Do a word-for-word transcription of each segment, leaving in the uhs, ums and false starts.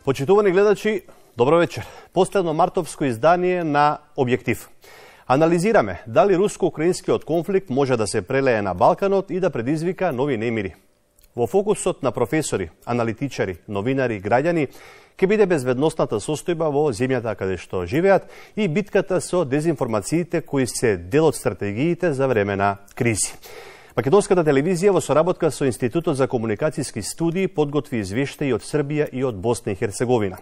Почитувани гледачи, добро вечер. Последно мартовско издание на Објектив. Анализираме дали руско-украинскиот конфликт може да се прелее на Балканот и да предизвика нови немири. Во фокусот на професори, аналитичари, новинари, граѓани ќе биде безбедносната состојба во земјата каде што живеат и битката со дезинформациите кои се дел од стратегиите за време на кризи. Македонската телевизија во соработка со Институтот за комуникацијски студии подготви извештаи од Србија и од Босна и Херцеговина.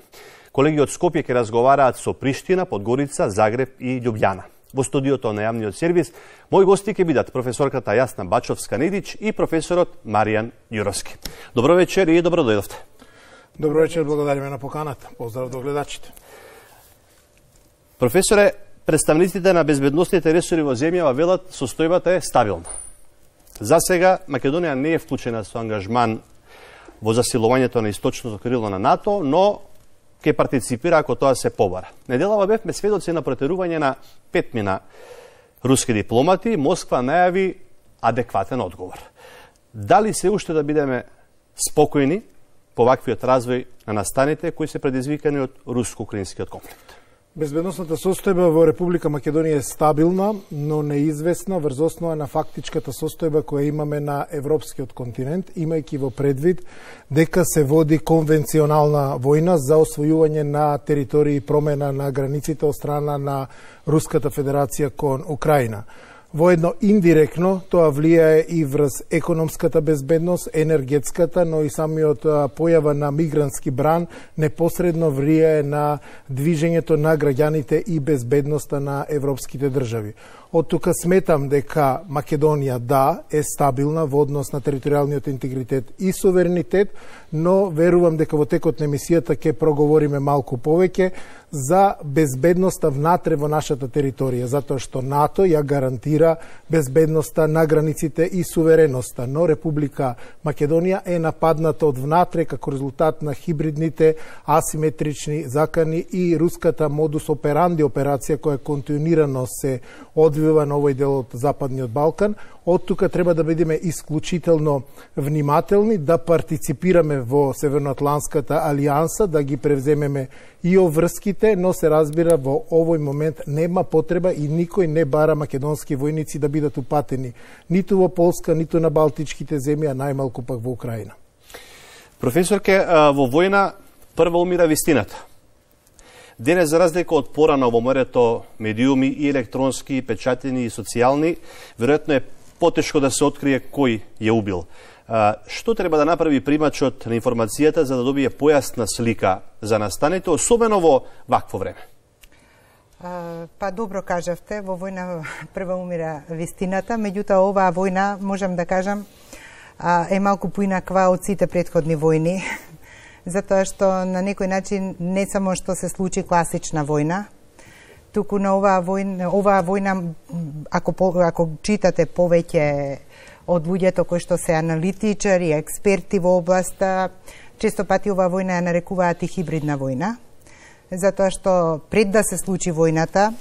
Колеги од Скопје ќе разговараат со Приштина, Подгорица, Загреб и Љубљана. Во студиото на јавниот сервис, мои гости ќе бидат професорката Јасна Бачовска-Недич и професорот Маријан Јуровски. Добро вечер и добро дојдовте. Добро вечер, благодариме на поканата. Поздрав до гледачите. Професоре, представниците на безбедносните ресори во земјава велат состојбата е стабилна. За сега Македонија не е вклучена со ангажман во засилувањето на источното крило на НАТО, но ќе партиципира ако тоа се побара. Неделава бевме сведоци на протерување на петмина руски дипломати. Москва најави адекватен одговор. Дали се уште да бидеме спокојни по ваквиот развој на настаните кои се предизвикани од руско-украинскиот конфликт? Безбедносната состојба во Република Македонија е стабилна, но неизвестна врз основа на фактичката состојба која имаме на европскиот континент, имајќи во предвид дека се води конвенционална војна за освојување на територии и промена на границите од страна на Руската Федерација кон Украина. Воедно индиректно тоа влијае и врз економската безбедност, енергетската, но и самиот појава на мигрантски бран непосредно влијае на движењето на граѓаните и безбедноста на европските држави. Од тука сметам дека Македонија да е стабилна во однос на територијалниот интегритет и суверенитет, но верувам дека во текот на емисијата ќе проговориме малку повеќе за безбедноста внатре во нашата територија, затоа што НАТО ја гарантира безбедноста на границите и сувереноста, но Република Македонија е нападната од внатре како резултат на хибридните асиметрични закани и руската модус операнди операција која континуирано се одвива на овој дел од Западниот Балкан. Од тука треба да бидеме исклучително внимателни, да партиципираме во Северноатланската алијанса, да ги превземеме и оврските, но се разбира во овој момент нема потреба и никој не бара македонски војници да бидат упатени ниту во Полска, ниту на Балтичките земји, а најмалку пак во Украина. Професорке, во војна прва умира вистината. Денес, за разлика од порано во морето медиуми и електронски, и печатени, и социјални, веројатно е потешко да се открие кој ја убил. А, што треба да направи примачот на информацијата за да добие појасна слика за настаните, особено во вакво време? А, па добро кажавте, во војна прва умира вистината, меѓутоа оваа војна, можам да кажам, а, е малку поинаква од сите претходни војни, затоа што на некој начин не само што се случи класична војна, туку на оваа војна, оваа војна ако, ако читате повеќе од луѓето кои што се аналитичари, експерти во областа, често пати оваа војна ја нарекуваат и хибридна војна, затоа што пред да се случи војната,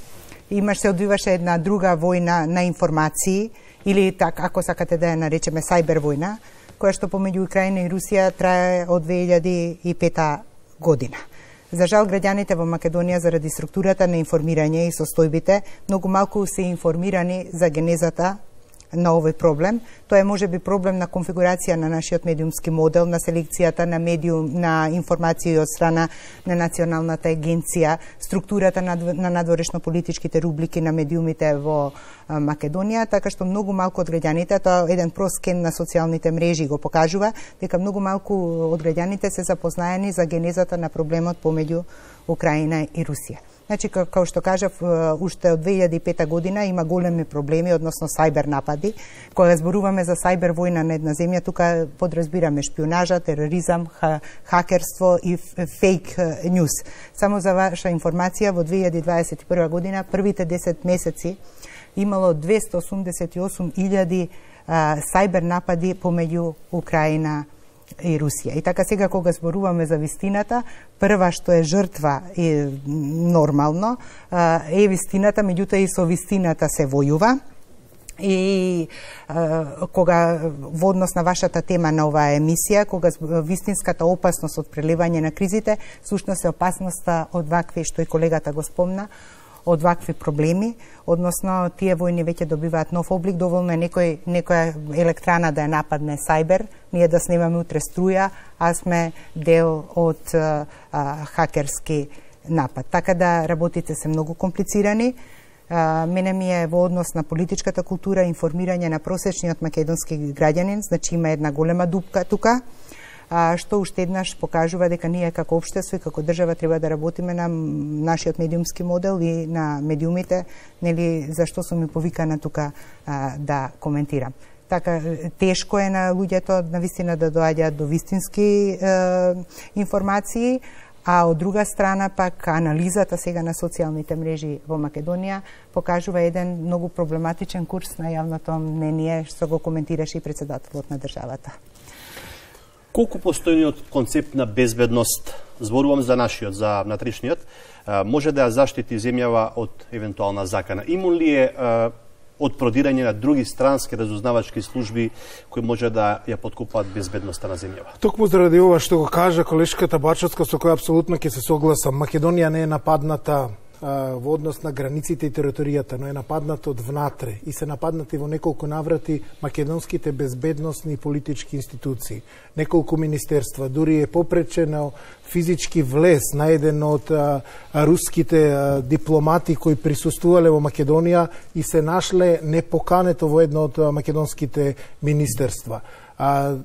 имаш се одвиваше една друга војна на информации, или така, ако сакате да ја наречеме сајбер војна, која што помеѓу Украина и Русија трае од две илјади и пета година. За жал, граѓаните во Македонија заради структурата на информирање и состојбите многу малку се информирани за генезата на овој проблем. Тоа е можеби проблем на конфигурација на нашиот медиумски модел, на селекцијата на медиум, на информации од страна на Националната агенција, структурата на, на надворешно политичките рубрики на медиумите во Македонија, така што многу малку од граѓаните, тоа еден прост скен на социјалните мрежи го покажува, дека многу малку од граѓаните се запознаени за генезата на проблемот помеѓу Украина и Русија. Значи, како што кажав, уште од две илјади и пета година има големи проблеми, односно сајбер напади. Кога зборуваме за сајбер војна на една земја, тука подразбираме шпионажа, тероризам, ха, хакерство и фейк нјуз. Само за ваша информација, во две илјади дваесет и прва година, првите десет месеци, имало двесте осумдесет и осум илјади сајбер напади помеѓу Украина и Русија. И така сега кога зборуваме за вистината, прва што е жртва е нормално, е вистината, меѓутоа и со вистината се војува. И е, кога во однос на вашата тема на оваа емисија, кога вистинската опасност од прелевање на кризите, сушност е опасноста од вакви, што и колегата го спомна, од вакви проблеми, односно тие војни веќе добиваат нов облик, доволно е некој, некоја електрана да ја нападне сајбер, ние да снимаме утре струја, а сме дел од а, а, хакерски напад. Така да работите се многу комплицирани. А, мене ми е во однос на политичката култура, информирање на просечниот македонски граѓанин, значи има една голема дупка тука, а, што уште еднаш покажува дека ние како општество и како држава треба да работиме на нашиот медиумски модел и на медиумите, нели, зашто сум ми повикана тука а, да коментирам. Така, тешко е на луѓето на вистина да доаѓаат до вистински е, информации, а од друга страна пак анализата сега на социјалните мрежи во Македонија покажува еден многу проблематичен курс на јавното мнение, што го коментираше и председателот на државата. Колку постојниот концепт на безбедност, зборувам за нашиот, за внатрешниот, може да ја заштити земјава од евентуална закана? Има ли е од продирање на други странски разузнавачки служби кои може да ја подкопаат безбедноста на земјава? Токму заради ова што го кажа колешката Бачовска, со која апсолутно ќе се согласам, Македонија не е нападната во однос на границите и територијата, но е нападната од внатре и се нападнати во неколку наврати македонските безбедносни и политички институции. Неколку министерства, дури е попречено физички влез на еден од а, руските а, дипломати кои присуствувале во Македонија и се нашле непокането во едно од а, македонските министерства. А,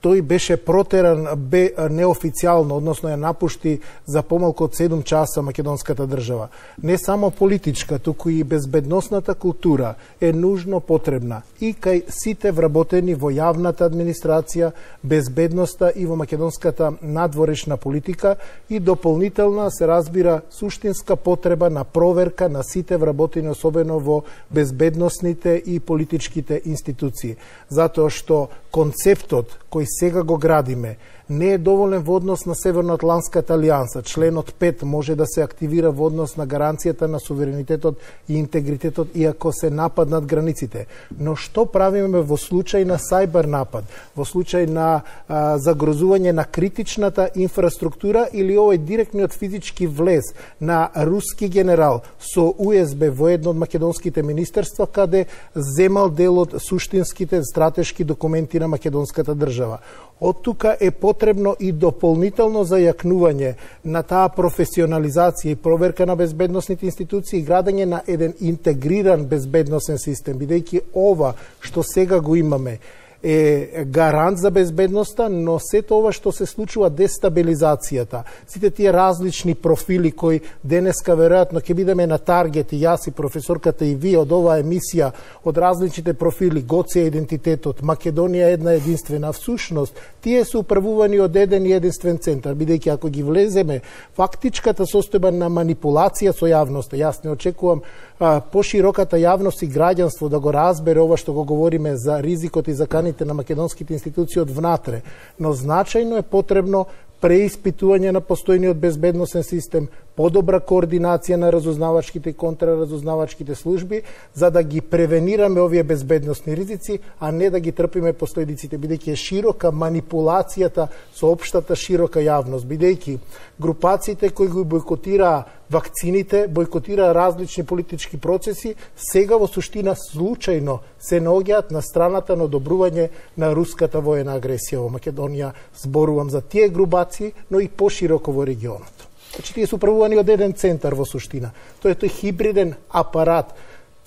тој беше протеран бе неофицијално, односно ја напушти за помалку од седум часа македонската држава. Не само политичка, туку и безбедносната култура е нужно потребна и кај сите вработени во јавната администрација, безбедноста и во македонската надворешна политика и дополнителна се разбира суштинска потреба на проверка на сите вработени, особено во безбедносните и политичките институции. Затоа што концептот кој сега го градиме не е доволен во однос на Северноатлантската алијанса. Членот пет може да се активира во однос на гаранцијата на суверенитетот и интегритетот иако се нападнат границите. Но што правиме во случај на сајбер напад, во случај на а, загрозување на критичната инфраструктура или овој директниот физички влез на руски генерал со У Ес Бе во едно од македонските министерства каде земал дел од суштинските стратешки документи на македонската држава. Од тука е потребно и дополнително зајакнување на таа професионализација и проверка на безбедносните институции и градење на еден интегриран безбедносен систем, бидејќи ова што сега го имаме е гарант за безбедноста, но сето ова што се случува, дестабилизацијата, сите тие различни профили кои денеска веројатно ќе бидеме на таргет, и јас и професорката и вие од оваа емисија, од различните профили, Гоце идентитетот, Македонија една единствена, всушност, тие се управувани од еден и единствен центар, бидејќи ако ги влеземе фактичката состојба на манипулација со јавноста, јас не очекувам а, пошироката јавност и граѓанство да го разбере ова што го говориме за ризикот и за каните на македонските институции од внатре, но значајно е потребно преиспитување на постојниот безбедносен систем, подобра координација на разузнавачките и контраразузнавачките служби, за да ги превенираме овие безбедносни ризици, а не да ги трпиме последиците, бидејќи е широка манипулацијата со општата широка јавност, бидејќи групациите кои го бойкотираа вакцините, бойкотираа различни политички процеси, сега во суштина случајно се наоѓаат на страната на одобрување на руската воена агресија во Македонија. Зборувам за тие групации, но и пошироко во регионот. Значи, тие се управувани од еден центар во суштина. Тоа е тој хибриден апарат,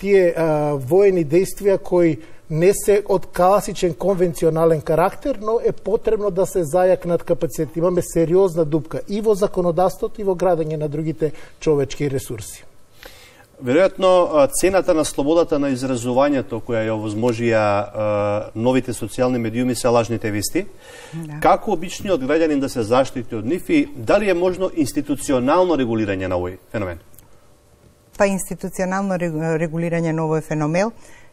тие а, воени действија кои не се од класичен конвенционален карактер, но е потребно да се зајакнат капацитет. Имаме сериозна дупка и во законодавството и во градење на другите човечки ресурси. Веројатно, цената на слободата на изразувањето која ја овозможија новите социјални медиуми се лажните вести. Да. Како обичниот граѓанин да се заштити од нив и дали е можно институционално регулирање на овој феномен? Па институционално регулирање на овој феномен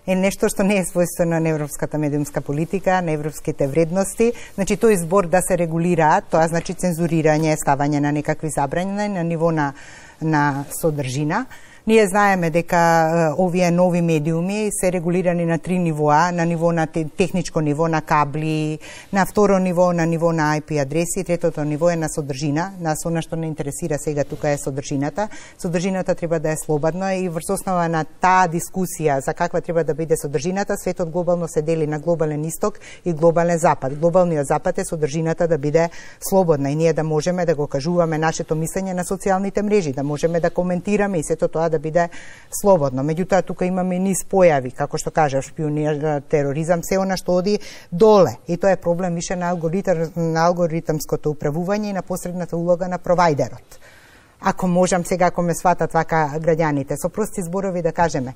е нешто што не е својствено на европската медиумска политика, на европските вредности. Значи, тој збор да се регулираат, тоа значи цензурирање, ставање на некакви забрани на ниво на, на содржина. Ние знаеме дека овие нови медиуми се регулирани на три нивоа, на ниво на техничко ниво на кабли, на второ ниво на ниво на ай пи адреси, третото ниво е на содржина. Нас она што не интересира сега тука е содржината. Содржината треба да е слободна и врз основа на таа дискусија за каква треба да биде содржината, светот глобално се дели на глобален исток и глобален запад. Глобалниот запад е содржината да биде слободна и ние да можеме да го кажуваме нашето мислење на социјалните мрежи, да можеме да коментираме и сето тоа да биде слободно. Меѓутоа тука имаме низ појави, како што кажав, шпионир, тероризам, се она што оди доле. И тоа е проблем више на алгоритам, на алгоритамското управување и на посредната улога на провајдерот. Ако можам сега, ако ме сватат вака граѓаните, со прости зборови да кажеме,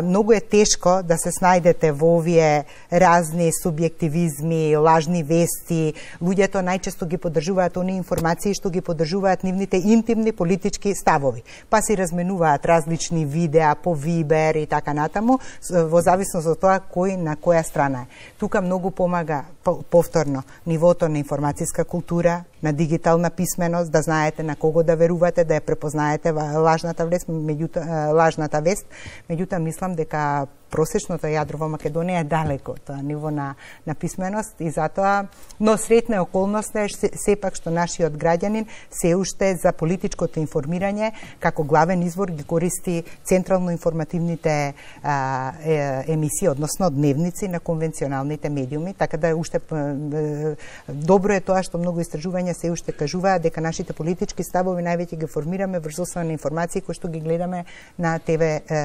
многу е тешко да се снајдете во овие разни субјективизми, лажни вести. Луѓето најчесто ги поддржуваат оние информации што ги поддржуваат нивните интимни политички ставови. Па си разменуваат различни видеа по Вибер и така натаму, во зависност од тоа кој на која страна е. Тука многу помага повторно нивото на информацијска култура, на дигитална писменост, да знаете на кого да верувате, да ја препознаете лажната вест, меѓутоа лажната вест, меѓутоа мислам дека просечното јадро во Македонија е далеко тоа ниво на, на писменост и затоа, но сретна околност е сепак што нашиот граѓанин се уште за политичкото информирање како главен извор ги користи централно информативните а, е, емисии, односно дневници на конвенционалните медиуми, така да уште е, добро е тоа што многу истражувања се уште кажуваат дека нашите политички ставови највеќе ги формираме врз основа на информации кои што ги гледаме на те ве е,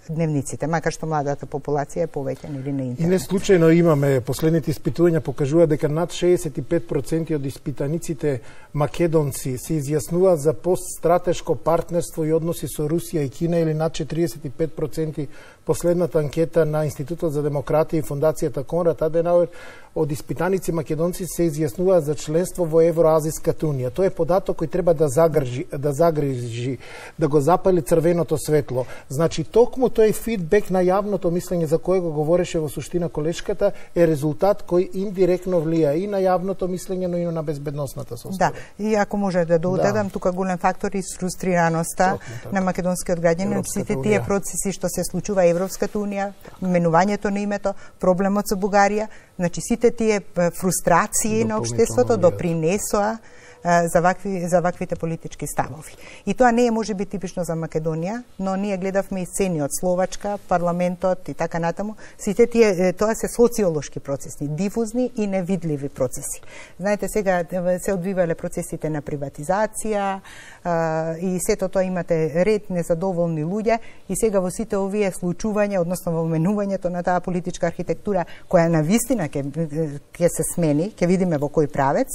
дневниците, макар што млада популација е повеќе или на интернет. И не случајно имаме, последните испитувања покажуваат дека над шеесет и пет проценти од испитаниците македонци се изјаснуваат за постстратешко партнерство и односи со Русија и Кина, или над четириесет и пет проценти последната анкета на Институтот за демократија и Фондацијата Конрад Аденауер од испитаници македонци се изјаснуваат за членство во Евроазиската унија. Тоа е податок кој треба да загрижи, да загрижи, да го запали црвеното светло. Значи, токму тој фидбек на јавното мислење за кое го говореше во суштина колешката е резултат кој индиректно влија и на јавното мислење, но и на безбедносната состојба. Да, и ако може да додадам, да. Тука голем фактор и фрустрираноста на македонскиот граѓанин од сите тие процеси што се случува Европската унија, менувањето на името, проблемот со Бугарија, значи сите тие фрустрации на општеството допринесоа за вакви за ваквите политички ставови. И тоа не е можеби типично за Македонија, но ние гледавме и сцени од Словачка, парламентот и така натаму. Сите тие тоа се социолошки процеси, дифузни и невидливи процеси. Знаете, сега се одвивале процесите на приватизација и сето тоа имате ред незадоволни луѓе и сега во сите овие случувања, односно во менувањето на таа политичка архитектура која на вистина ќе ќе се смени, ќе видиме во кој правец.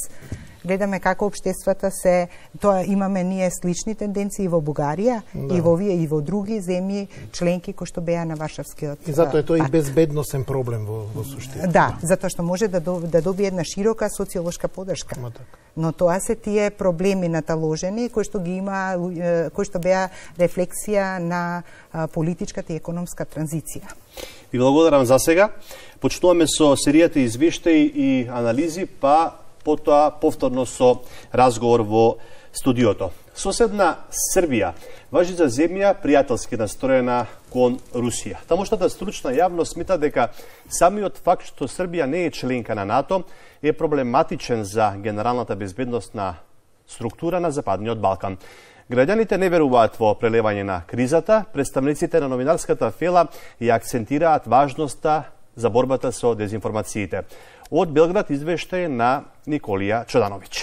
Гледаме како општествата се, тоа имаме ние слични тенденции во Бугарија, да. И во овие и во други земји членки кои што беа на Варшавскиот пакт. И затоа е тоа и безбедносен проблем во, во суштина. Да, затоа што може да, до, да добие една широка социолошка поддршка. Но тоа се тие проблеми наталожени кои што ги има, кои што беа рефлексија на политичката и економска транзиција. Ви благодарам за сега. Почнуваме со серијата извештаи и анализи, па потоа повторно со разговор во студиото. Соседна Србија важи за земја пријателски настроена кон Русија. Тамошната стручна јавност смета дека самиот факт што Србија не е членка на НАТО е проблематичен за генералната безбедносна структура на Западниот Балкан. Граѓаните не веруваат во прелевање на кризата, представниците на новинарската фела ја акцентираат важноста за борбата со дезинформациите. Од Белград извештај на Николија Чодановиќ.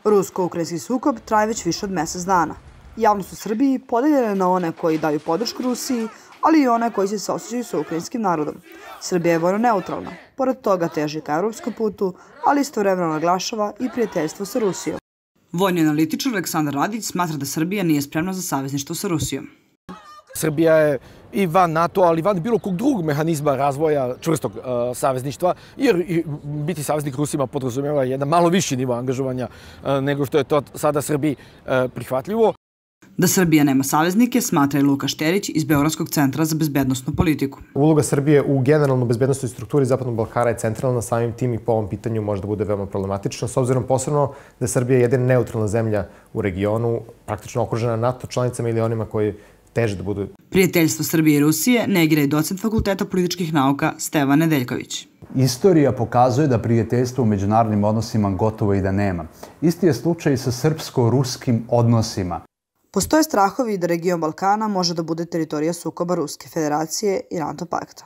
Руско-украински сукоb трае веќе више од месец дана. Јавност у Србiji поделена е на one кои дају подршку Русiji, ali i one koji se saosjećaju sa ukrajinskim narodom. Srbija je vojno neutralna, pored toga teži ka evropskom putu, ali istovremeno naglašava i prijateljstvo sa Rusijom. Vojni analitičar Aleksandar Radić smatra da Srbija nije spremna za savezništvo sa Rusijom. Srbija je i van NATO, ali van bilo kog drugog mehanizma razvoja čvrstog uh, savezništva, jer i, biti saveznik Rusima podrazumeva jedan malo viši nivo angažovanja uh, nego što je to sada Srbiji uh, prihvatljivo. Da Srbija nema saveznike, smatra i Luka Šterić iz Beogradskog centra za bezbednosnu politiku. Uloga Srbije u generalno bezbednostnoj strukturi Zapadnog Balkana je centralna, samim tim i po ovom pitanju može da bude veoma problematično, s obzirom posebno da je Srbija jedina neutralna zemlja u regionu, praktično okružena NATO članicama ili onima koji teže da budu. Prijateljstvo Srbije i Rusije negira i docent Fakulteta političkih nauka Stevan Nedeljković. Istorija pokazuje da prijateljstva u međunarodnim odnosima gotovo i da nema. Isti je slučaj i sa srpsko-ruskim odnosima. Postoje strahovi da region Balkana može da bude teritorija sukoba Ruske federacije i NATO pakta.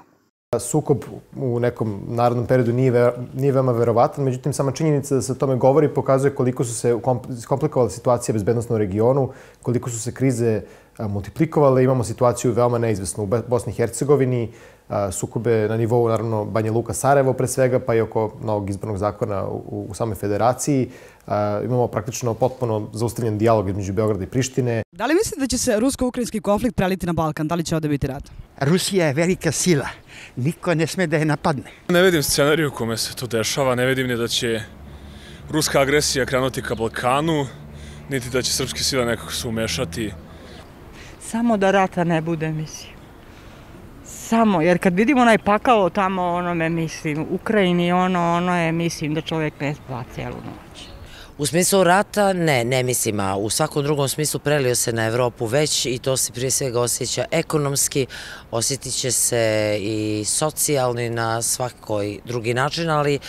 Sukob u nekom narodnom periodu nije, nije veoma verovatan, međutim sama činjenica da se o tome govori pokazuje koliko su se komplikovale situacije bezbednosno u regionu, koliko su se krize multiplikovale. Imamo situaciju veoma neizvesnu u Bosni i Hercegovini, sukobe na nivou, naravno, Banja Luka, Sarajevo pre svega, pa i oko novog izbornog zakona u, u samoj federaciji. Imamo praktično potpuno zaustavljen dijalog između Beograda i Prištine. Da li mislite da će se rusko-ukrajinski konflikt preliti na Balkan? Da li će ovde biti rat? Rusija je velika sila. Niko ne sme da je napadne. Ne vidim scenariju u kome se to dešava. Ne vidim ni da će ruska agresija krenuti ka Balkanu, niti da će srpske sile nekako se umešati. Samo da rata ne bude, mislim. Samo, jer kad vidimo onaj pakao tamo, onome, mislim, u Ukrajini, ono, ono je, mislim, da čovjek ne spava cijelu noć. U smislu rata, ne, ne mislim, a u svakom drugom smislu prelio se na Evropu već i to se prije svega osjeća ekonomski, osjetit će se i socijalno i na svakoj drugi način, ali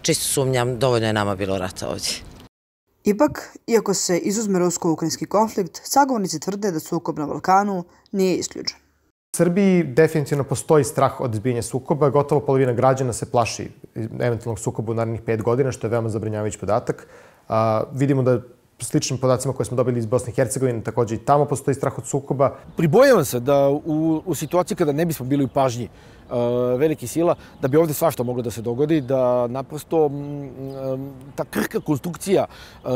čisto sumnjam, dovoljno je nama bilo rata ovdje. Ipak, iako se izuzme rusko-ukrajinski konflikt, sagovornici tvrde da sukob na Balkanu nije isključen. U Srbiji definitivno postoji strah od izbijanja sukoba. Gotovo polovina građana se plaši eventualnog sukoba u narednih pet godina, što je veoma zabrinjavajući podatak. A, vidimo da sličnim podacima koje smo dobili iz Bosne i Hercegovine, također i tamo postoji strah od sukoba. Pribojavam se da u, u situaciji kada ne bismo bili u pažnji uh, velikih sila, da bi ovdje svašta moglo da se dogodi, da naprosto um, ta krhka konstrukcija uh,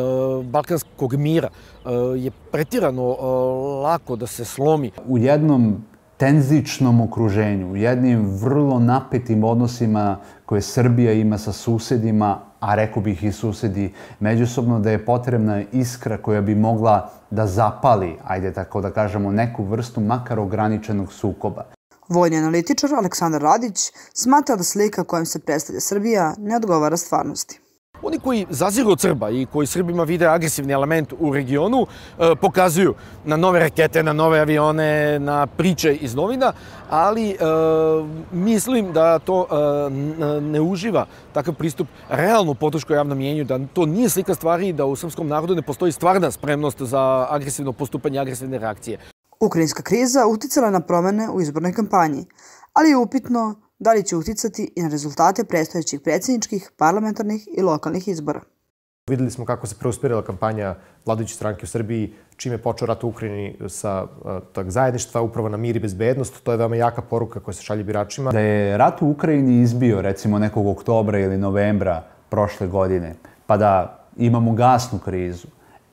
balkanskog mira uh, je pretirano uh, lako da se slomi. U jednom tenzičnom okruženju, u jednim vrlo napetim odnosima koje Srbija ima sa susedima, a rekao bih i susedi međusobno, da je potrebna iskra koja bi mogla da zapali, ajde tako da kažemo, neku vrstu makar ograničenog sukoba. Vojni analitičar Aleksandar Radić smatra da slika kojom se predstavlja Srbija ne odgovara stvarnosti. Oni koji zaziru od Srba i koji Srbima vide agresivni element u regionu pokazuju na nove rakete, na nove avione, na priče iz novina, ali mislim da to ne uživa takav pristup realnu podršku javnom mjenju, da to nije slika stvari i da u srpskom narodu ne postoji stvarna spremnost za agresivno postupanje, agresivne reakcije. Ukrajinska kriza uticala na promene u izbornoj kampanji, ali je upitno da li će uticati i na rezultate predstojećih predsjedničkih, parlamentarnih i lokalnih izbora. Videli smo kako se preusmjerila kampanja vladajuće stranke u Srbiji, čim je počeo rat u Ukrajini sa tog zajedništva, upravo na mir i bezbednost. To je veoma jaka poruka koja se šalje biračima. Da je rat u Ukrajini izbio recimo nekog oktobra ili novembra prošle godine, pa da imamo gasnu krizu,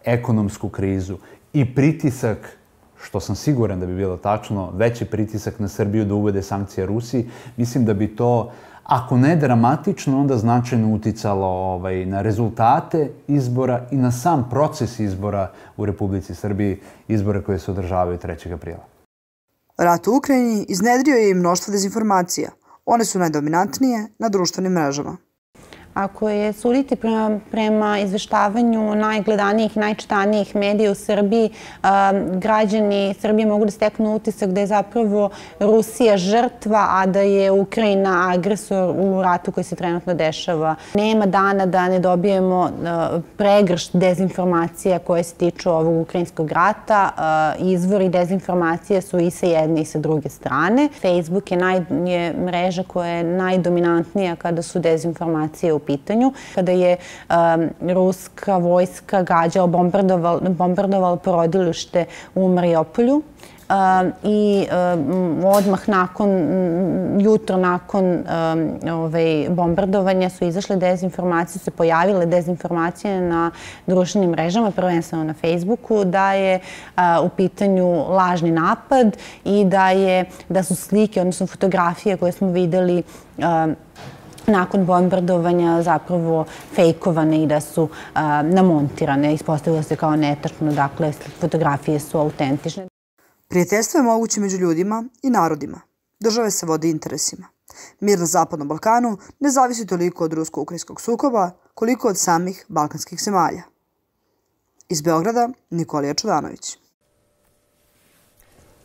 ekonomsku krizu i pritisak, što sam siguran da bi bilo tačno, veći pritisak na Srbiju da uvede sankcije Rusiji, mislim da bi to, ako ne dramatično, onda značajno uticalo ovaj, na rezultate izbora i na sam proces izbora u Republici Srbiji, izbore koje se održavaju trećeg aprila. Rat u Ukrajini iznedrio je i mnoštvo dezinformacija. One su najdominantnije na društvenim mrežama. Ako je suditi prema, prema izveštavanju najgledanijih i najčitanijih medija u Srbiji, građani Srbije mogu da steknu utisak da je zapravo Rusija žrtva, a da je Ukrajina agresor u ratu koji se trenutno dešava. Nema dana da ne dobijemo pregršt dezinformacija koje se tiču ovog ukrajinskog rata. Izvori dezinformacije su i sa jedne i sa druge strane. Facebook je, naj, je mreža koja je najdominantnija kada su dezinformacije u pitanju. Kada je um, ruska vojska gađala, bombardovala, bombardovala porodilište u Mariupolju um, i um, odmah nakon, jutro nakon um, ovaj, bombardovanja su izašle dezinformacije, su se pojavile dezinformacije na društvenim mrežama, prvenstveno na Facebooku, da je uh, u pitanju lažni napad i da, je, da su slike, odnosno fotografije koje smo videli um, nakon bombardovanja zapravo fejkovane i da su namontirane. Ispostavilo se kao netačno, dakle, fotografije su autentične. Prijateljstvo je moguće među ljudima i narodima. Države se vode interesima. Mir na Zapadnom Balkanu ne zavisi toliko od rusko-ukrajinskog sukoba, koliko od samih balkanskih zemalja. Iz Beograda, Nikolija Čudanović.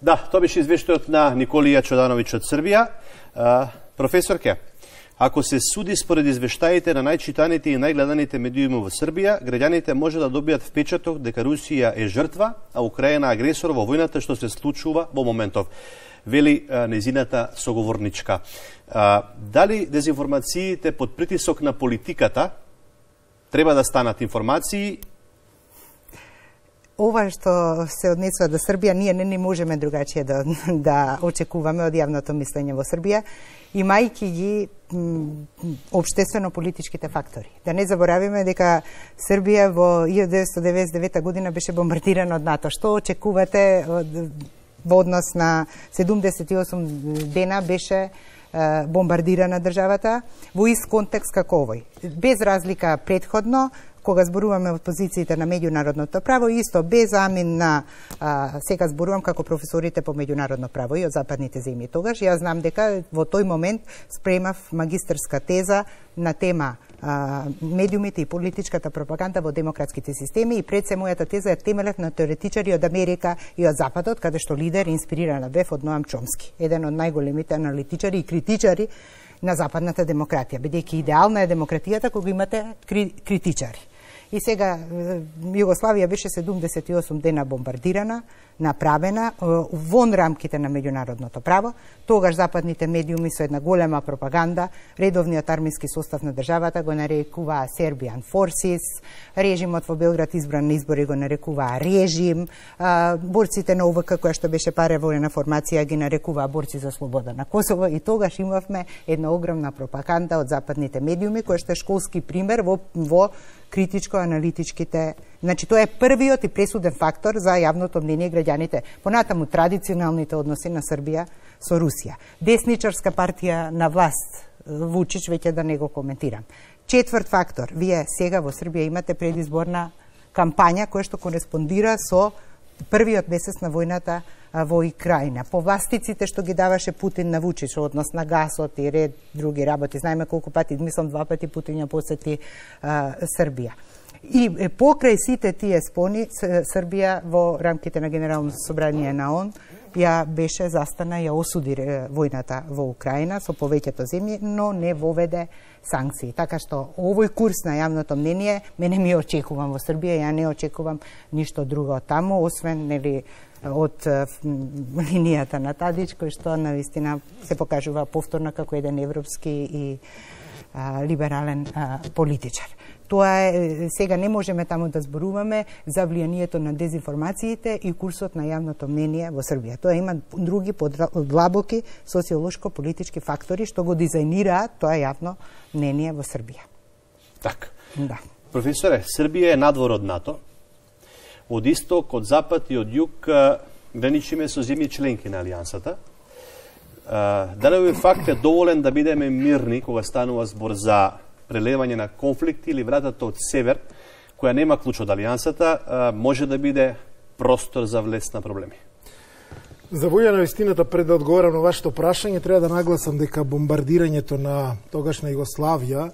Да, тоа беше извештајот на Николија Чудановиќ од Србија. А, професорке, ако се суди според извештаите на најчитаните и најгледаните медиуми во Србија, граѓаните може да добијат впечаток дека Русија е жртва, а Украина агресор во војната што се случува во моментов, вели а, незината соговорничка. А, дали дезинформациите под притисок на политиката треба да станат информации? Ова што се однесува до Србија, ние не, не можеме другачие да, да очекуваме од јавното мислење во Србија, имајќи ги општествено-политичките фактори. Да не заборавиме дека Србија во илјада деветстотини деветдесет и девета година беше бомбардирана од НАТО. Што очекувате од, во однос на седумдесет и осум дена беше бомбардирана државата во ист контекст како овој. Без разлика предходно, кога зборуваме од позициите на меѓународното право, исто без амин на, а, сега зборувам како професорите по меѓународно право и од западните земји. Тогаш јас знам дека во тој момент спремав магистерска теза на тема а, медиумите и политичката пропаганда во демократските системи и пред се мојата теза е темелет на теоретичари од Америка и од Западот, каде што лидер инспирирана бев од Ноам Чомски, еден од најголемите аналитичари и критичари на западната демократија, бидејќи идеална е демократијата кога имате кри, критичари. И сега Југославија беше седумдесет и осум дена бомбардирана, направена вон рамките на меѓународното право. Тогаш западните медиуми со една голема пропаганда, редовниот армиски состав на државата го нарекуваа Serbian Forces, режимот во Белград избран на избори го нарекуваа режим, борците на О В К која што беше паравојна формација ги нарекуваа борци за слобода на Косово и тогаш имавме една огромна пропаганда од западните медиуми која што е школски пример во, во критичко-аналитичките. Значи, тоа е првиот и пресуден фактор за јавното мнение граѓаните. Понатаму традиционалните односи на Србија со Русија. Десничарска партија на власт, Вучич, веќе да не го коментирам. Четврт фактор, вие сега во Србија имате предизборна кампања која што кореспондира со првиот месец на војната во Украина. Повластиците што ги даваше Путин на Вучич, однос на гасот и ред други работи. Знаеме колку пати, мислам два пати Путин ја посети а, Србија. И покрај сите тие спони, Србија во рамките на Генералното собрание на ООН ја беше застана, ја осуди војната во Украина со повеќето земји, но не воведе санкции. Така што овој курс на јавното мнение мене ми очекувам во Србија, ја не очекувам ништо друго од таму, освен нели од линијата на Тадич, кој што навистина се покажува повторно како еден европски и а, либерален а, политичар. Тоа е, сега не можеме таму да зборуваме за влијанието на дезинформациите и курсот на јавното мнение во Србија. Тоа има други подлабоки социолошко-политички фактори што го дизајнираат тоа јавно мнение во Србија. Так. Да. Професоре, Србија е надвор од НАТО. Од исток, од запад и од југ граничиме со земји членки на Алијансата. Дали овој факт е доволен да бидеме мирни кога станува збор за прелевање на конфликти или вратата од север, која нема клуч од Алијансата, може да биде простор за влез на проблеми? За волја на вистината, пред да одговорам на вашето прашање, треба да нагласам дека бомбардирањето на тогашна Југославија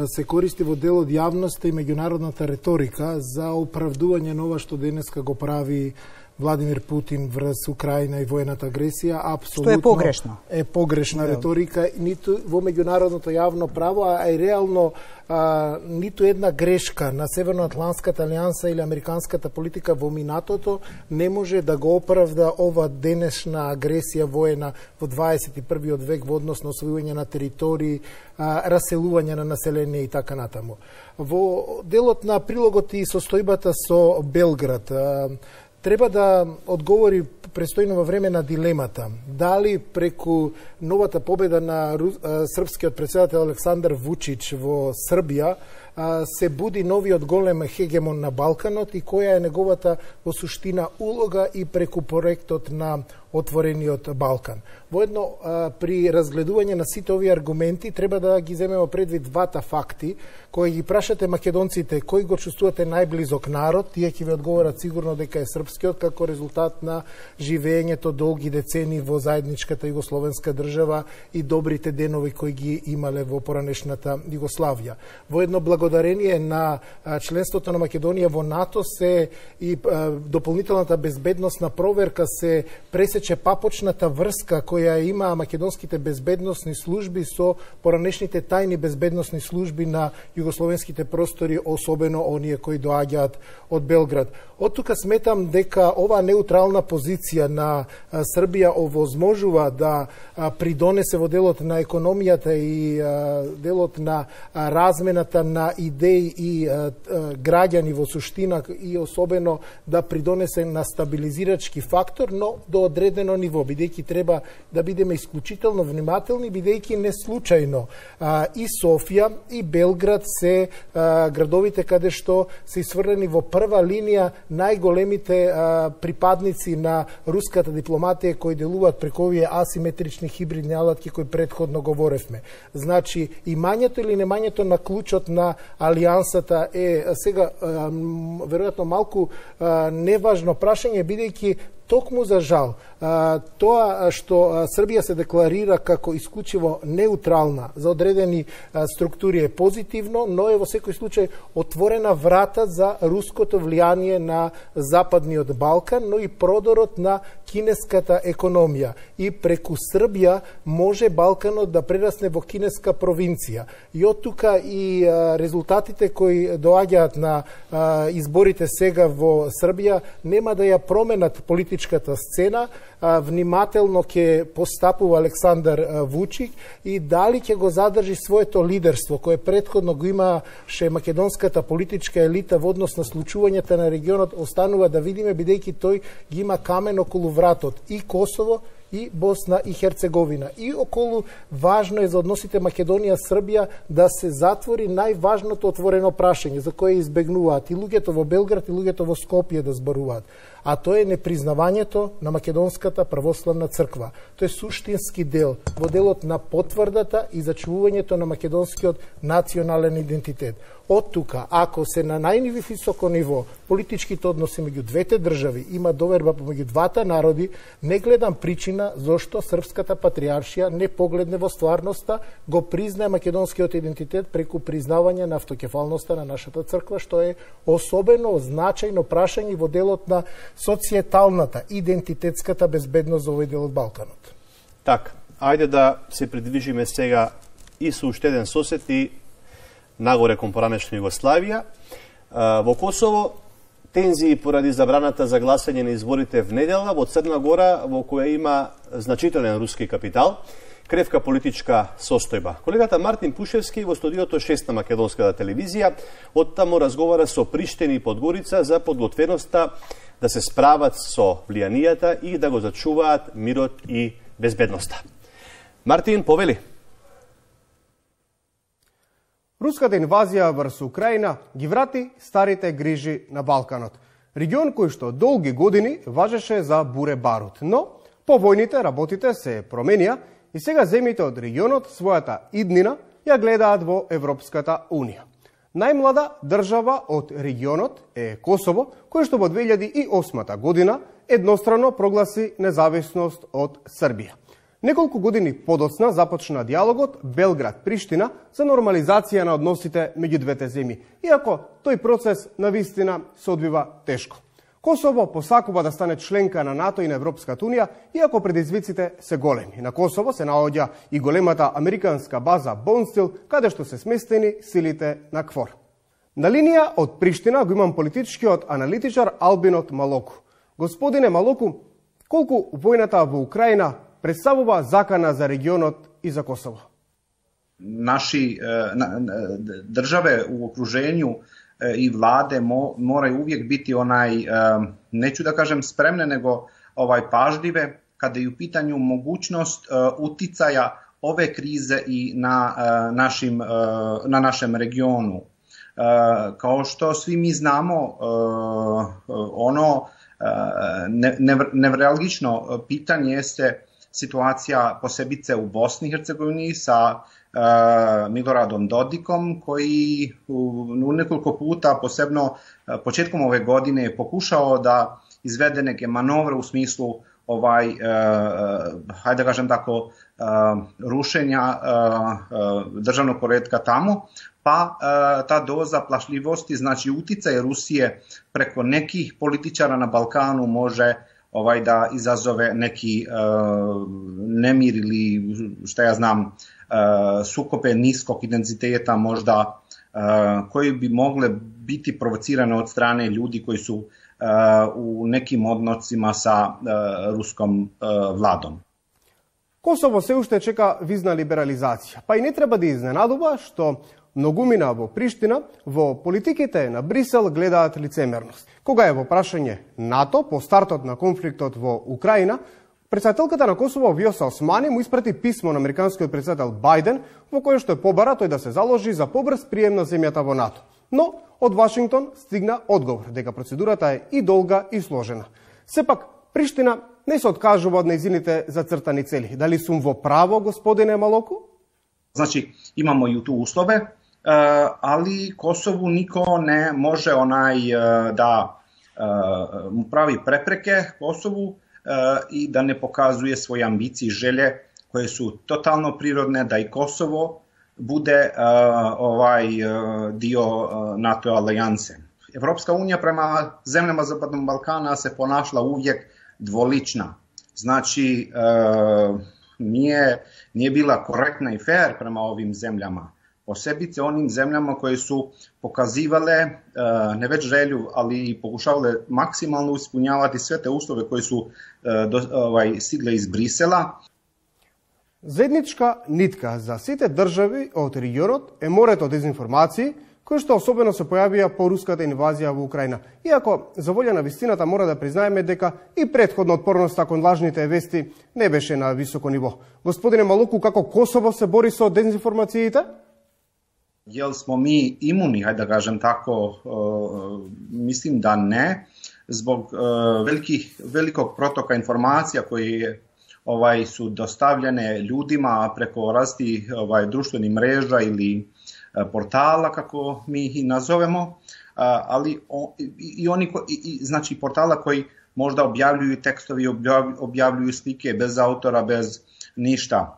се користи во дел од јавноста и меѓународната реторика за оправдување на ова што денеска го прави Владимир Путин врз Украина и војната агресија. Апсолутно што е погрешно. Е погрешна реторика, ниту во меѓународното јавно право, а и реално а, ниту една грешка на Северноатлантската алијанса или американската политика во минатото не може да го оправда ова денешна агресија воена во дваесет и првиот век во однос на освојување на територии, а, раселување на население и така натаму. Во делот на прилогот и состојбата со Белград, а, треба да одговори престојно во време на дилемата дали преку новата победа на српскиот претседател Александар Вучич во Србија се буди новиот голем хегемон на Балканот и која е неговата во суштина улога и преку проектот на отворениот Балкан. Воедно, при разгледување на сите овие аргументи, треба да ги земеме предвид двата факти, кои ги прашате македонците кој го чувствувате најблизок народ, тие ќе ви одговорат сигурно дека е српскиот, како резултат на живеењето долги децени во заедничката југословенска држава и добрите денови кои ги имале во поранешната Југославија. Воедно, благодарение на членството на Македонија во НАТО се и дополнителната безбедносна проверка се пресече папочната врска која има македонските безбедносни служби со поранешните тајни безбедносни служби на југословенските простори, особено оние кои доаѓаат од Белград. Од тука сметам дека оваа неутрална позиција на Србија овозможува да придонесе во делот на економијата и делот на размената на идеи и граѓани во суштина и особено да придонесе на стабилизирачки фактор, но до одредено ниво, бидејќи треба да бидеме исклучително внимателни, бидејќи не случајно и Софија и Белград се градовите каде што се исфрлени во прва линија најголемите припадници на руската дипломатија кои делуваат преку овие асиметрични хибридни алатки кои претходно говоревме. Значи, имањето или немањето на клучот на алијансата е сега веројатно малку неважно прашање, бидејќи токму за жал, тоа што Србија се декларира како исклучиво неутрална за одредени структури е позитивно, но е во секој случај отворена врата за руското влијание на Западниот Балкан, но и продорот на кинеската економија. И преку Србија може Балканот да прерасне во кинеска провинција. И од тука и резултатите кои доаѓаат на изборите сега во Србија нема да ја променат политичката сцена, внимателно ќе постапува Александар Вучик и дали ќе го задржи своето лидерство кое претходно го имаше македонската политичка елита во однос на случувањата на регионот, останува да видиме, бидејќи тој ги има камен околу вратот и Косово и Босна и Херцеговина. И околу важно е за односите Македонија-Србија да се затвори најважното отворено прашање за кое избегнуваат и луѓето во Белград и луѓето во Скопје да зборуваат. А тоа е непризнавањето на Македонската православна црква. Тоа е суштински дел во делот на потврдата и зачувувањето на македонскиот национален идентитет. Од тука, ако се на највисоко ниво политичките односи меѓу двете држави има доверба помеѓу двата народи, не гледам причина зошто српската патриаршија не погледне во стварноста, го признае македонскиот идентитет преку признавање на автокефалноста на нашата црква, што е особено значајно прашање во делот на социеталната, идентитетската безбедност за овој дел од Балканот. Так, ајде да се придвижиме сега и со уште еден сосед и нагоре кон поранешна Југославија. Во Косово тензии поради забраната за гласање на изборите в недела во Црна Гора, во која има значителен руски капитал, кревка политичка состојба. Колегата Мартин Пушевски во студиото шест на Македонската телевизија оттаму разговара со Приштина и Подгорица за подготвеноста да се справат со влијанијата и да го зачуваат мирот и безбедноста. Мартин, повели. Руската инвазија врз Украина ги врати старите грижи на Балканот. Регион кој што долги години важеше за буре барут, но по војните работите се променија и сега земјите од регионот својата иднина ја гледаат во Европската Унија. Најмлада држава од регионот е Косово, кој што во две илјади и осма година еднострано прогласи независност од Србија. Неколку години подоцна започна диалогот Белград-Приштина за нормализација на односите меѓу двете земји, иако тој процес на вистина се одвива тешко. Косово посакува да стане членка на НАТО и на Европската Унија, иако предизвиците се големи. На Косово се наоѓа и големата американска база Бонстил, каде што се сместени силите на КФОР. На линија од Приштина го имам политичкиот аналитичар Албинот Малоку. Господине Малоку, колку војната во Украина представува закана за регионот и за Косово? Наши државе у окружењу и владе морају увijek biti онај, неću да кажем спремне, него овај пажливе каде ју питању могуćност утицаја ове кризе и на нашим на нашем региону. Kao što svi mi znamo, ono nevralgično pitanje jeste situacija posebice u Bosni i Hercegovini sa Miloradom Dodikom, koji u nekoliko puta, posebno početkom ove godine, je pokušao da izvede neke manovre u smislu ovaj, hajde da kažem tako, rušenja državnog poretka tamo, pa ta doza plašljivosti, znači uticaj Rusije preko nekih političara na Balkanu može ovaj da izazove neki nemir ili šta ja znam, sukobe niskog intenziteta možda, koji bi mogle biti provocirane od strane ljudi koji su u nekim odnosima sa ruskom vladom. Косово се уште чека визна либерализација, па и не треба да изненадува што многумина во Приштина во политиките на Брисел гледаат лицемерност. Кога е во прашање НАТО по стартот на конфликтот во Украина, председателката на Косово Вјоса Османи му испрати писмо на американскиот председател Бајден во кое што е побара тој да се заложи за побрз прием на земјата во НАТО. Но од Вашингтон стигна одговор дека процедурата е и долга и сложена. Сепак Приштина не се откажува од нејзините зацртани цели. Дали сум во право, господине Малоку? Значи, имамо и ту услове, али Косову нико не може онај да му прави препреке Косову и да не показуе своји амбиции и желе кои су тотално природне да и Косово буде овај дио НАТО алијансе. Европска унија према земljama Западnog Балкана се понашла увijek dvolična. Znači, e, nije, nije bila korektna i fair prema ovim zemljama. Posebice onim zemljama koje su pokazivale e, ne već želju, ali i pokušavale maksimalno ispunjavati sve te uslove koje su e, do, ovaj, stigle iz Brisela. Заедничка нитка за сите држави од регионот е морето дезинформации, кои што особено се појавија по руската инвазија во Украина. Иако, за волја на вистината, мора да признаеме дека и претходно отпорноста кон лажните вести не беше на високо ниво. Господине Малоку, како Косово се бори со дезинформациите? Jel smo mi imuni, hajde da kažem tako, mislim da ne, zbog velikih, velikog protoka informacija koji ovaj, su dostavljene ljudima preko različitih ovaj, društvenih mreža ili portala, kako mi ih nazovemo, ali i oni, i, znači portala koji možda objavljuju tekstovi, objavljuju slike bez autora, bez ništa.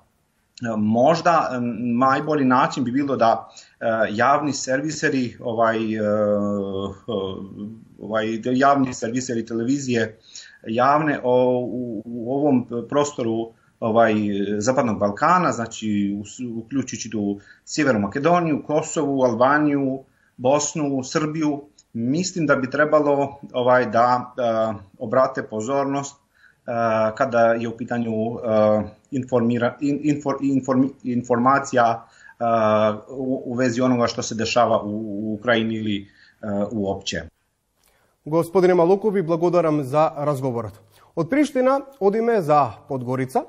Možda najbolji način bi bilo da javni serviseri, ovaj, ovaj, javni serviseri televizije javne o, u, u ovom prostoru ovaj, Zapadnog Balkana, znači uključujući tu Sjevernu Makedoniju, Kosovu, Albaniju, Bosnu, Srbiju, mislim da bi trebalo ovaj, da uh, obrate pozornost uh, kada je u pitanju uh, informira, in, infor, inform, informacija uh, u, u vezi onoga što se dešava u, u Ukrajini ili uh, uopće. Господине Малоку, ви благодарам за разговорот. Од Приштина одиме за Подгорица.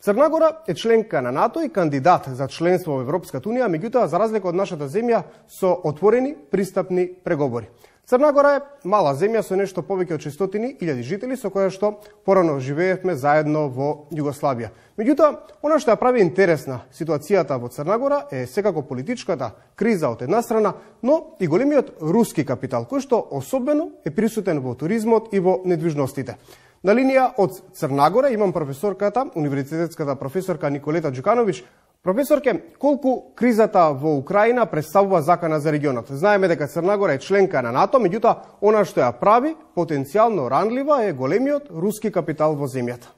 Црна Гора е членка на НАТО и кандидат за членство во Европската унија, меѓутоа, за разлика од нашата земја, со отворени пристапни преговори. Црна Гора е мала земја со нешто повеќе од шестстотини илјади жители, со која што порано живеевме заедно во Југославија. Меѓутоа, она што ја прави интересна ситуацијата во Црна Гора е секако политичката криза од една страна, но и големиот руски капитал, кој што особено е присутен во туризмот и во недвижностите. На линија од Црна Гора имам професорката, универзитетската професорка Николета Џукановиќ. Професорке, колку кризата во Украина представува закана за регионот? Знаеме дека Црна Гора е членка на НАТО, меѓутоа, она што ја прави потенцијално ранлива е големиот руски капитал во земјата.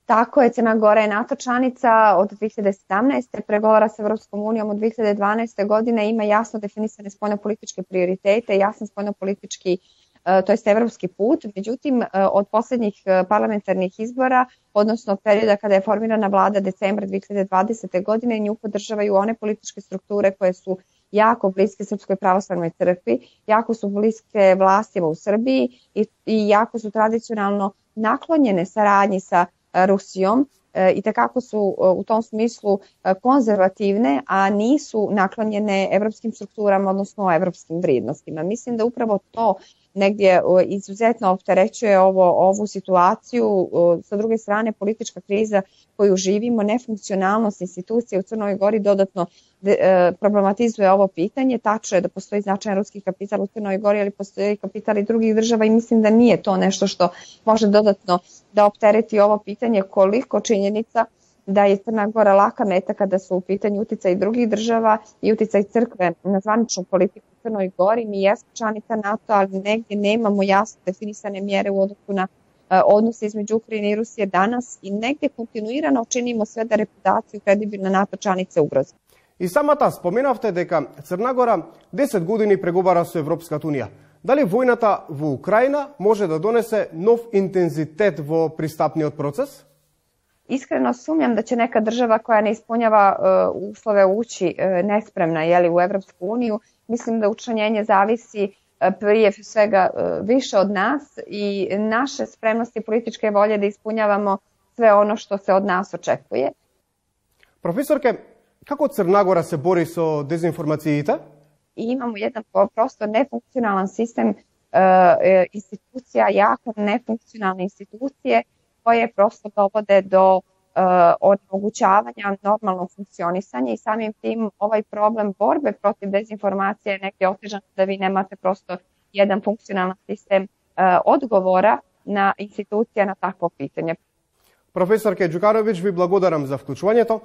Tako je, Crna Gora je NATO članica od dve hiljade sedamnaeste. pregovara sa Evropskom unijom od dve hiljade dvanaeste. godine, ima jasno definisane spoljnopolitičke prioritete, jasan spoljnopolitički to jest evropski put, međutim od posljednjih parlamentarnih izbora, odnosno od perioda kada je formirana vlada decembra dve hiljade dvadesete. godine, nju podržavaju one političke strukture koje su jako bliske Srpskoj pravoslavnoj crkvi, jako su bliske vlastima u Srbiji i, i jako su tradicionalno naklonjene saradnji sa Rusijom i tekako su u tom smislu konzervativne, a nisu naklonjene evropskim strukturama, odnosno evropskim vrijednostima. Mislim da upravo to negdje izuzetno opterećuje ovo, ovu situaciju. Sa druge strane, politička kriza koju živimo, nefunkcionalnost institucije u Crnoj Gori dodatno problematizuje ovo pitanje. Tačno je da postoji značajan ruski kapital u Crnoj Gori, ali postoji kapital i drugih država i mislim da nije to nešto što može dodatno da optereti ovo pitanje, koliko činjenica da je Crna Gora laka meta kada su u pitanju uticaj drugih država i uticaj crkve na zvaničnu politiku u Crnoj Gori. Mi jesmo članica NATO, ali negdje nemamo jasno definisane mjere u odnosu na odnose između Ukrajine i Rusije danas i negdje kontinuirano činimo sve da reputaciju kredibilne NATO članice ugrozi. И самата споменавте дека Црна Гора десет години преговара со Европската Унија. Дали војната во Украина може да донесе нов интензитет во пристапниот процес? Iskreno sumnjam da će neka država koja ne ispunjava uh, uslove ući uh, nespremna jeli, u Evropsku uniju. Mislim da učlanjenje zavisi uh, prije svega uh, više od nas i naše spremnosti političke volje da ispunjavamo sve ono što se od nas očekuje. Profesorke, kako Crna Gora se bori со dezinformacijite? I imamo jedan prosto nefunkcionalan sistem uh, institucija, jako nefunkcionalne institucije koje prosto dovode do uh, onemogućavanja normalnog funkcionisanja i samim tim ovaj problem borbe protiv dezinformacije je negdje otežan da vi nemate prosto jedan funkcionalan sistem uh, odgovora na institucija na takvo pitanje. Професорке Ѓукановиќ, ви благодарам за вклучувањето.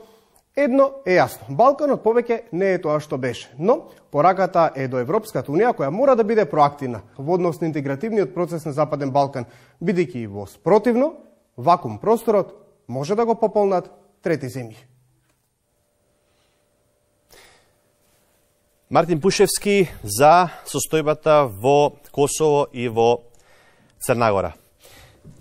Едно е јасно, Балканот повеќе не е тоа што беше, но пораката е до Европската Унија која мора да биде проактивна во однос на интегративниот процес на Западен Балкан, бидејќи во спротивно, вакуум просторот може да го пополнат трети земји. Мартин Пушевски за состојбата во Косово и во Црна Гора.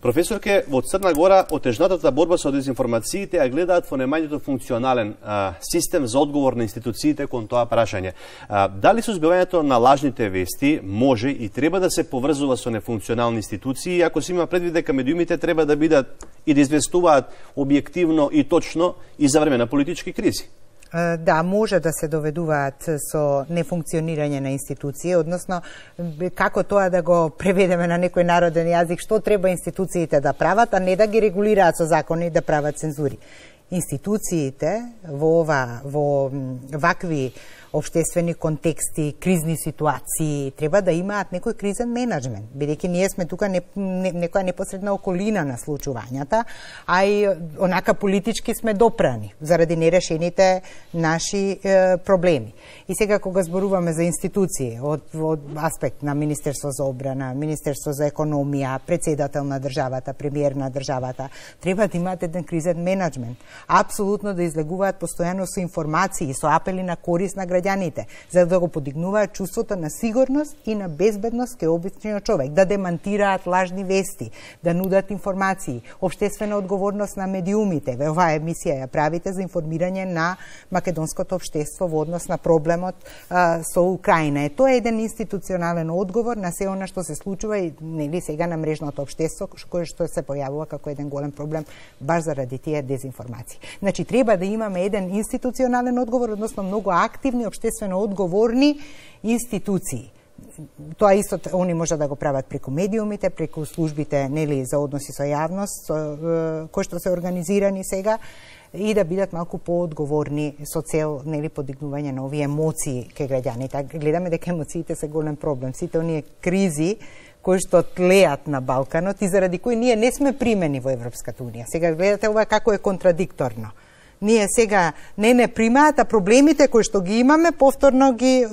Професорке, во Црна Гора отежнатата борба со дезинформациите ја гледаат во најмањето функционален а, систем за одговор на институциите кон тоа прашање. А, дали сузбивањето на лажните вести може и треба да се поврзува со нефункционални институции, ако се има предвид дека медиумите треба да бидат и да известуваат објективно и точно и за време на политички кризи? Да, може да се доведуваат со нефункционирање на институции, односно како тоа да го преведеме на некој народен јазик, што треба институциите да прават, а не да ги регулираат со закони и да прават цензури. Институциите во ова во вакви обштествени контексти, кризни ситуации, треба да имаат некој кризен менеджмент, бидејќи ние сме тука не, не, некоја непосредна околина на случувањата, а и онака политички сме допрани заради нерешените наши е, проблеми. И сега кога зборуваме за институции од, од аспект на Министерство за одбрана, Министерство за економија, председател на државата, премиер на државата, треба да имаат еден кризен менеджмент. Апсолутно да излегуваат постојано со информации, со апели на корист на граѓаните, за да го подигнуваат чувството на сигурност и на безбедност кај обичниот човек, да демантираат лажни вести, да нудат информации, обштествена одговорност на медиумите. Оваа емисија ја правите за информирање на македонското општество во однос на проблемот а, со Украина. Е, тоа е еден институционален одговор на се она што се случува и нели сега на мрежното општество, кој што се појавува како еден голем проблем баш заради тие дезинформации. Значи, треба да имаме еден институционален одговор, односно многу активни, обштествено одговорни институции. Тоа исто они може да го прават преку медиумите, преку службите нели за односи со јавност, со, кои што се организирани сега, и да бидат малку поодговорни со цел нели подигнување на овие емоции кај граѓаните. Гледаме дека емоциите се голем проблем. Сите оние кризи кои што тлеат на Балканот и заради кои ние не сме примени во Европската Унија. Сега гледате ова како е контрадикторно. Ние сега не не примаат, а проблемите кои што ги имаме повторно ги е,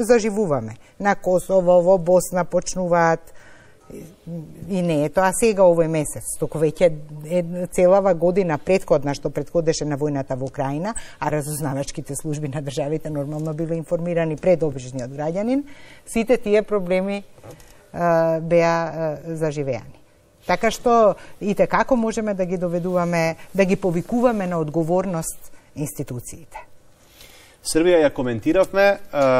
заживуваме. На Косово, во Босна почнуваат и не е тоа сега овој месец, туку веќе е целава година предходна што предходеше на војната во Украина, а разузнавачките служби на државите нормално биле информирани пред обичниот граѓанин, сите тие проблеми е, беа е, заживеани. Така што и како можеме да ги доведуваме, да ги повикуваме на одговорност институциите. Србија ја коментиравме,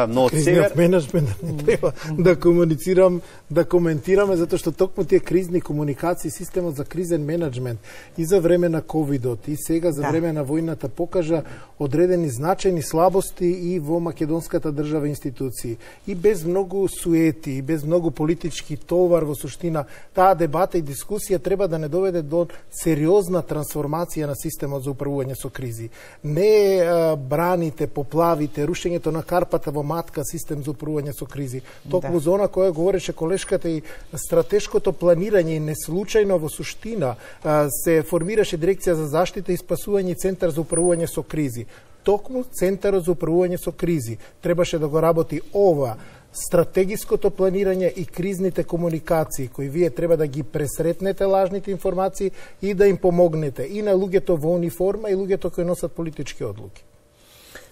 но од север... Кризниот менеджмент не треба да комуницирам, да коментираме, затоа што токму тие кризни комуникации, системот за кризен менеджмент и за време на ковидот и сега за време на војната покажа одредени значајни слабости и во македонската држава институции. И без многу суети, и без многу политички товар во суштина, таа дебата и дискусија треба да не доведе до сериозна трансформација на системот за управување со кризи. Не а, браните, поплавите, рушењето на карпата во матка систем за управување со кризи. Токму за она која говореше колешката и стратешкото планирање и неслучајно во суштина а, се формираше дирекција за заштита и спасување и центар за управување со кризи. Токму центарот за управување со кризи требаше да го работи ова стратегиското планирање и кризните комуникации, кои вие треба да ги пресретнете лажните информации и да им помогнете и на луѓето во униформа и луѓето кои носат политички одлуки.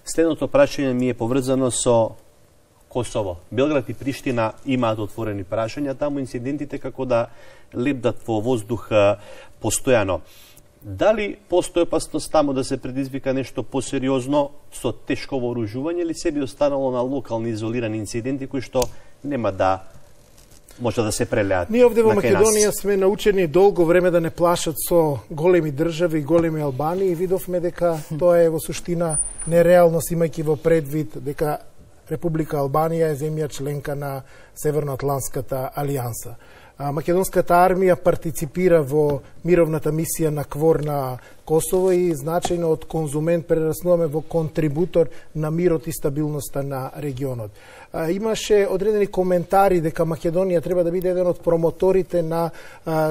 Следното прашање ми е поврзано со Косово. Белград и Приштина имаат отворени прашања, таму инцидентите како да лебдат во воздух постојано. Дали постои опасност таму да се предизвика нешто посериозно со тешко вооружување или се би останало на локални изолирани инциденти кои што нема да може да се прелеат? Ние овде во Македонија сме научени долго време да не плашат со големи држави и големи Албании и видовме дека тоа е во суштина нереалност, имајќи во предвид дека Република Албанија е земја членка на Северноатлантската алијанса. Македонската армија партиципира во мировната мисија на КВОР на Косово и значајно од конзумент прераснуваме во контрибутор на мирот и стабилноста на регионот. Имаше одредени коментари дека Македонија треба да биде еден од промоторите на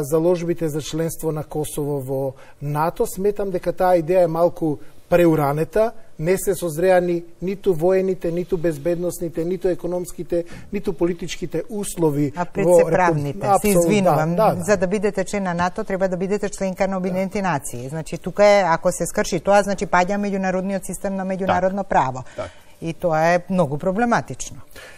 заложбите за членство на Косово во НАТО. Сметам дека таа идеја е малку преуранета, не се созреани ниту воените, ниту безбедносните, ниту економските, ниту политичките услови. А пред се правните, се извинувам. Да, да. За да бидете член на НАТО, треба да бидете членка на Обединените да. нации. Значи, тука е, ако се скрши тоа, значи паѓа меѓународниот систем на меѓународно так. право. Так. И тоа е многу проблематично.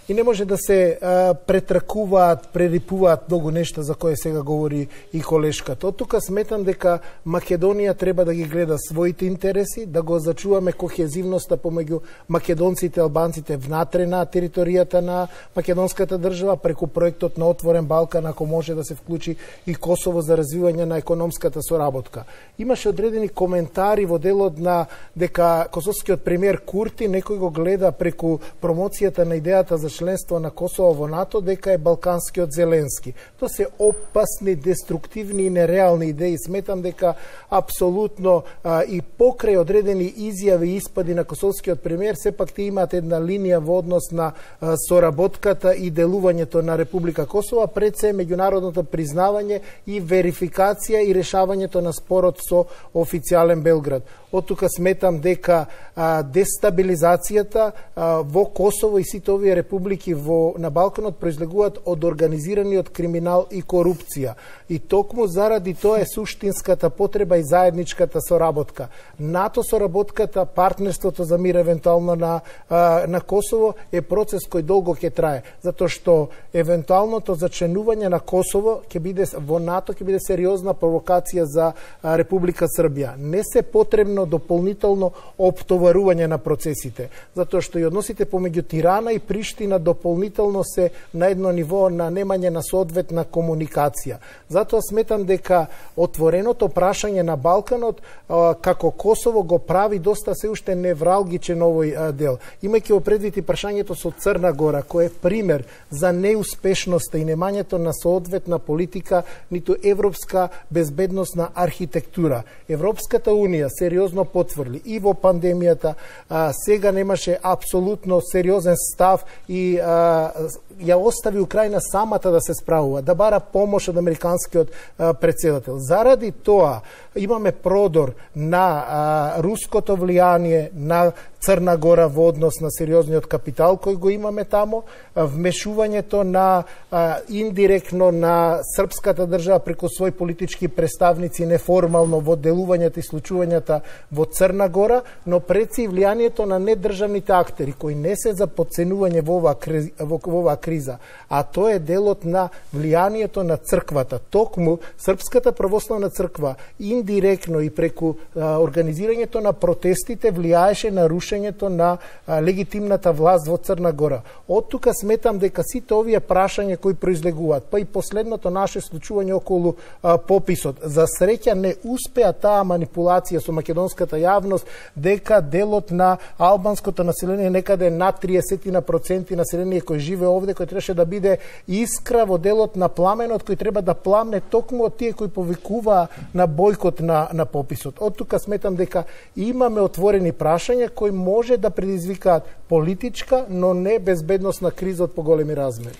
И не може да се а, претракуваат, прерипуваат многу нешта за кое сега говори и колешката. Од тука сметам дека Македонија треба да ги гледа своите интереси, да го зачуваме кохезивноста помеѓу македонците и албанците внатре на територијата на македонската држава, преку проектот на Отворен Балкан, ако може да се вклучи и Косово за развивање на економската соработка. Имаше одредени коментари во делот на дека косовскиот премиер Курти некој го гледа преку промоцијата на идејата за членство на Косово во НАТО дека е балканскиот Зеленски. Тоа се опасни, деструктивни и нереални идеи. Сметам дека апсолутно а, и покрај одредени изјави и испади на косовскиот премиер, сепак те имаат една линија во однос на а, соработката и делувањето на Република Косово, пред се меѓународното признавање и верификација и решавањето на спорот со официјален Белград. Од тука сметам дека а, дестабилизацијата а, во Косово и сите овие републики во, на Балканот произлегуваат од организираниот криминал и корупција. И токму заради тоа е суштинската потреба и заедничката соработка. НАТО соработката, партнерството за мир евентуално на, а, на Косово е процес кој долго ќе трае, затоа што евентуалното зачленување на Косово ќе биде во НАТО ќе биде сериозна провокација за а, Република Србија. Не се потребно дополнително оптоварување на процесите, затоа што и односите помеѓу Тирана и Приштина дополнително се на едно ниво на немање на соодветна комуникација. Затоа сметам дека отвореното прашање на Балканот а, како Косово го прави доста се уште невралгичен овој а, дел. Имајќи во предвид и прашањето со Црна Гора, кој е пример за неуспешноста и немањето на соодветна политика, ниту европска безбедносна архитектура. Европската Унија сериозно потврди и во пандемијата, а, сега немаше апсолутно сериозен став и а, ја остави Украина самата да се справува, да бара помош од американскиот а, председател. Заради тоа имаме продор на а, руското влијание на Црна Гора во однос на сериозниот капитал кој го имаме таму, вмешувањето на а, индиректно на српската држава преку своји политички представници неформално во делувањето и случувањата во Црна Гора, но преци и влијанието на недржавните актери кои не се за подценување во оваа криза, во оваа криза, а тоа е делот на влијанието на црквата. Токму Српската православна црква индиректно и преку а, организирањето на протестите влијаеше на рушењето на а, легитимната власт во Црна Гора. Од тука сметам дека сите овие прашања кои произлегуваат, па и последното наше случување околу а, пописот, за среќа не успеа таа манипулација со македонската јавност дека делот на албанското население некаде над триесет проценти население кој живее овде, кој требаше да биде искра во делот на пламенот кој треба да пламне токму од тие кои повикуваа на бојкот на, на пописот. Од тука сметам дека имаме отворени прашања кои може да предизвикаат политичка, но не безбедносна криза од поголеми размери.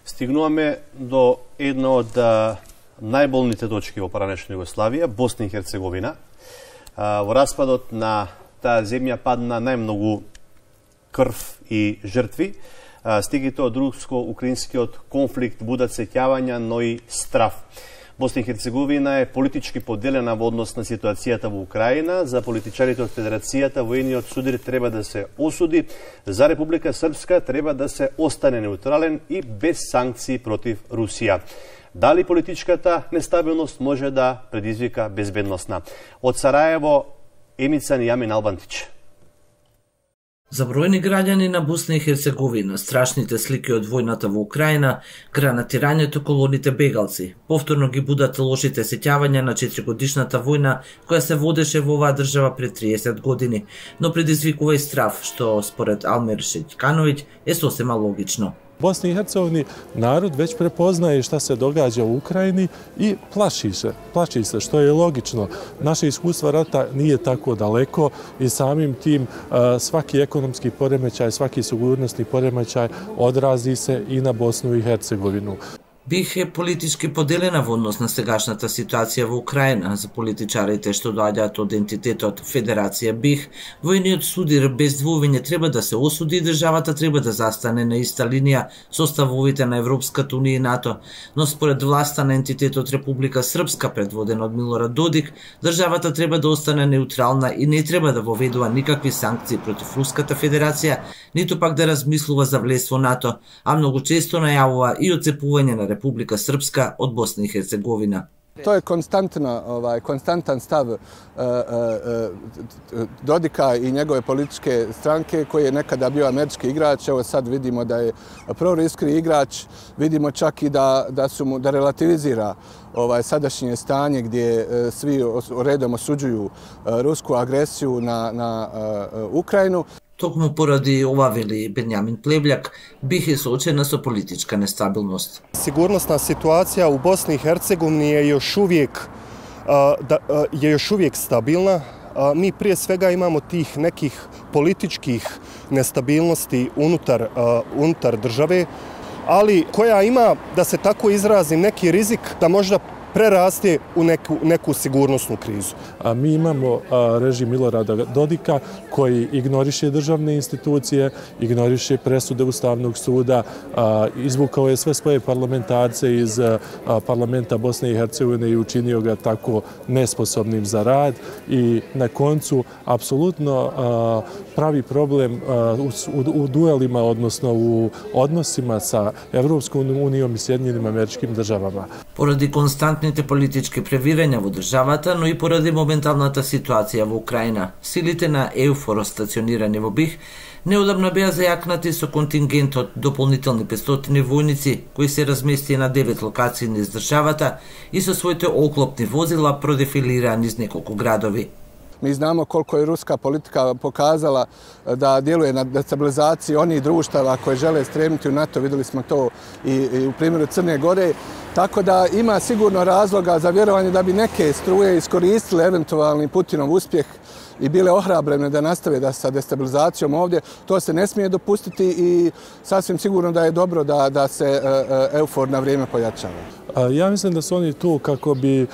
Стигнуваме до една од најболните точки во поранешна Југославија, Босна и Херцеговина. Во распадот на таа земја падна најмногу крв и жртви. Стигите од руско-украинскиот конфликт будат сеќавања, но и страв. Босна и Херцеговина е политички поделена во однос на ситуацијата во Украина. За политичарите од Федерацијата воениот судар треба да се осуди. За Република Српска треба да се остане неутрален и без санкции против Русија. Дали политичката нестабилност може да предизвика безбедносна? Од Сараево, Емица Нијамин Албантич. За бројни граѓани на Босна и Херцеговина, страшните слики од војната во Украина, гранатирањето колоните бегалци, повторно ги будат лошите сеќавања на четиригодишната војна која се водеше во оваа држава пред триесет години, но предизвикува и страв, што според Алмир Шеќкановиќ е сосема логично. Bosni i Hercegovini narod već prepoznaje šta se događa u Ukrajini i plaši se, plaši se, što je logično. Naše iskustva rata nije tako daleko i samim tim svaki ekonomski poremećaj, svaki sigurnosni poremećaj odrazi se i na Bosnu i Hercegovinu. Бих е политички поделена во однос на сегашната ситуација во Украина. За политичарите што доаѓаат од ентитетот Федерација Бих, војниот судир без двојување треба да се осуди и државата треба да застане на иста линија со ставовите на Европската унија и НАТО, но според власта на ентитетот Република Српска, предводена од Милорад Додик, државата треба да остане неутрална и не треба да воведува никакви санкции против Руската Федерација, ниту пак да размислува за влез во НАТО, а многу често најавува и оцепување на Република Српска од Босна и Херцеговина. To je konstantno, ovaj, konstantan stav uh, uh, Dodika i njegove političke stranke koji je nekada bio američki igrač. Evo sad vidimo da je proruski igrač, vidimo čak i da, da, su mu, da relativizira ovaj, sadašnje stanje gdje uh, svi redom osuđuju uh, rusku agresiju na, na uh, Ukrajinu. Токму поради ова, вели Бенјамин Плевљак, Бих е соочена со политичка нестабилност. Сигурносна ситуација у Босни и Херцеговини е још увиек je još uvijek stabilna. Mi prije svega imamo tih nekih političkih nestabilnosti unutar, unutar države, ali koja ima, da se tako izrazim, neki rizik da možda preraste u neku, neku sigurnosnu krizu. A mi imamo a, režim Milorada Dodika koji ignoriše državne institucije, ignoriše presude Ustavnog suda, a, izvukao je sve svoje parlamentarce iz a, parlamenta Bosne i Hercegovine i učinio ga tako nesposobnim za rad i na koncu apsolutno a, pravi problem a, u, u, u duelima, odnosno u odnosima sa Evropskom unijom i Sjedinjenim Američkim Državama. Поради константните политички превирања во државата, но и поради моменталната ситуација во Украина, силите на ЕУФОР стационирани во Бих неодамна беа зајакнати со контингент од дополнителни петстотини војници кои се размести на девет локации низ државата и со своите оклопни возила продефилирани низ неколку градови. Mi znamo koliko je ruska politika pokazala da djeluje na destabilizaciji onih društava koje žele stremiti u NATO. Videli smo to i, i u primjeru Crne Gore. Tako da ima sigurno razloga za vjerovanje da bi neke struje iskoristile eventualni Putinov uspjeh i bile ohrabrene da nastave da sa destabilizacijom ovdje. To se ne smije dopustiti i sasvim sigurno da je dobro da, da se EUFOR na vrijeme pojačava. Ja mislim da su oni tu kako bi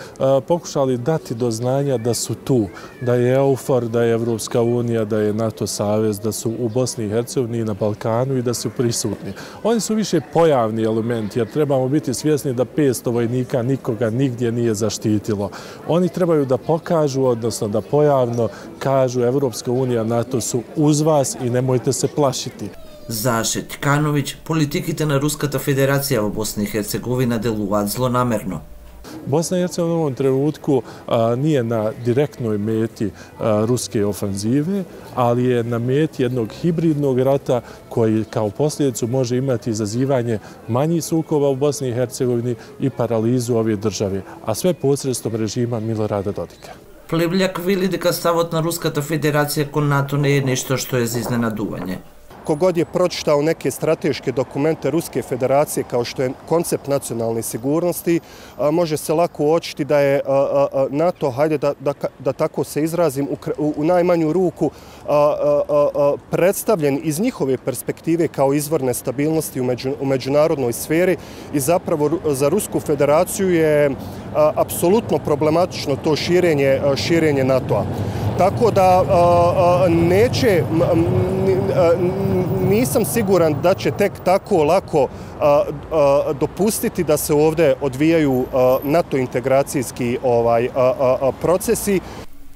pokušali dati do znanja da su tu, da je EUFOR, da je Evropska unija, da je NATO savez, da su u Bosni i Hercegovini i na Balkanu i da su prisutni. Oni su više pojavni element jer trebamo biti svjesni da petsto vojnika nikoga nigdje nije zaštitilo. Oni trebaju da pokažu, odnosno da pojavno kažu Evropska unija, NATO su uz vas i nemojte se plašiti. За Шетјкановиќ, политиките на Руската Федерација во Босна и Херцеговина делуваат злонамерно. Bosna i Hercegovina u ovom trenutku a, nije na direktnoj meti a, ruske ofanzive, ali je na meti jednog hibridnog rata koji kao posljedicu može imati izazivanje manjih sukoba u Bosni i Hercegovini i paralizu ove države, a sve posredstvom režima Milorada Dodika. Плевљак вели дека ставот на Руската Федерација кон НАТО не е нешто што е за изненадување. Kogod je pročitao neke strateške dokumente Ruske federacije kao što je koncept nacionalne sigurnosti, može se lako uočiti da je NATO, hajde da, da, da tako se izrazim, u, u najmanju ruku predstavljen iz njihove perspektive kao izvor nestabilnosti u, među, u međunarodnoj sferi i zapravo za Rusku federaciju je apsolutno problematično to širenje, širenje NATO-a. Tako da neće, nisam siguran da će tek tako lako dopustiti da se ovdje odvijaju NATO integracijski ovaj procesi.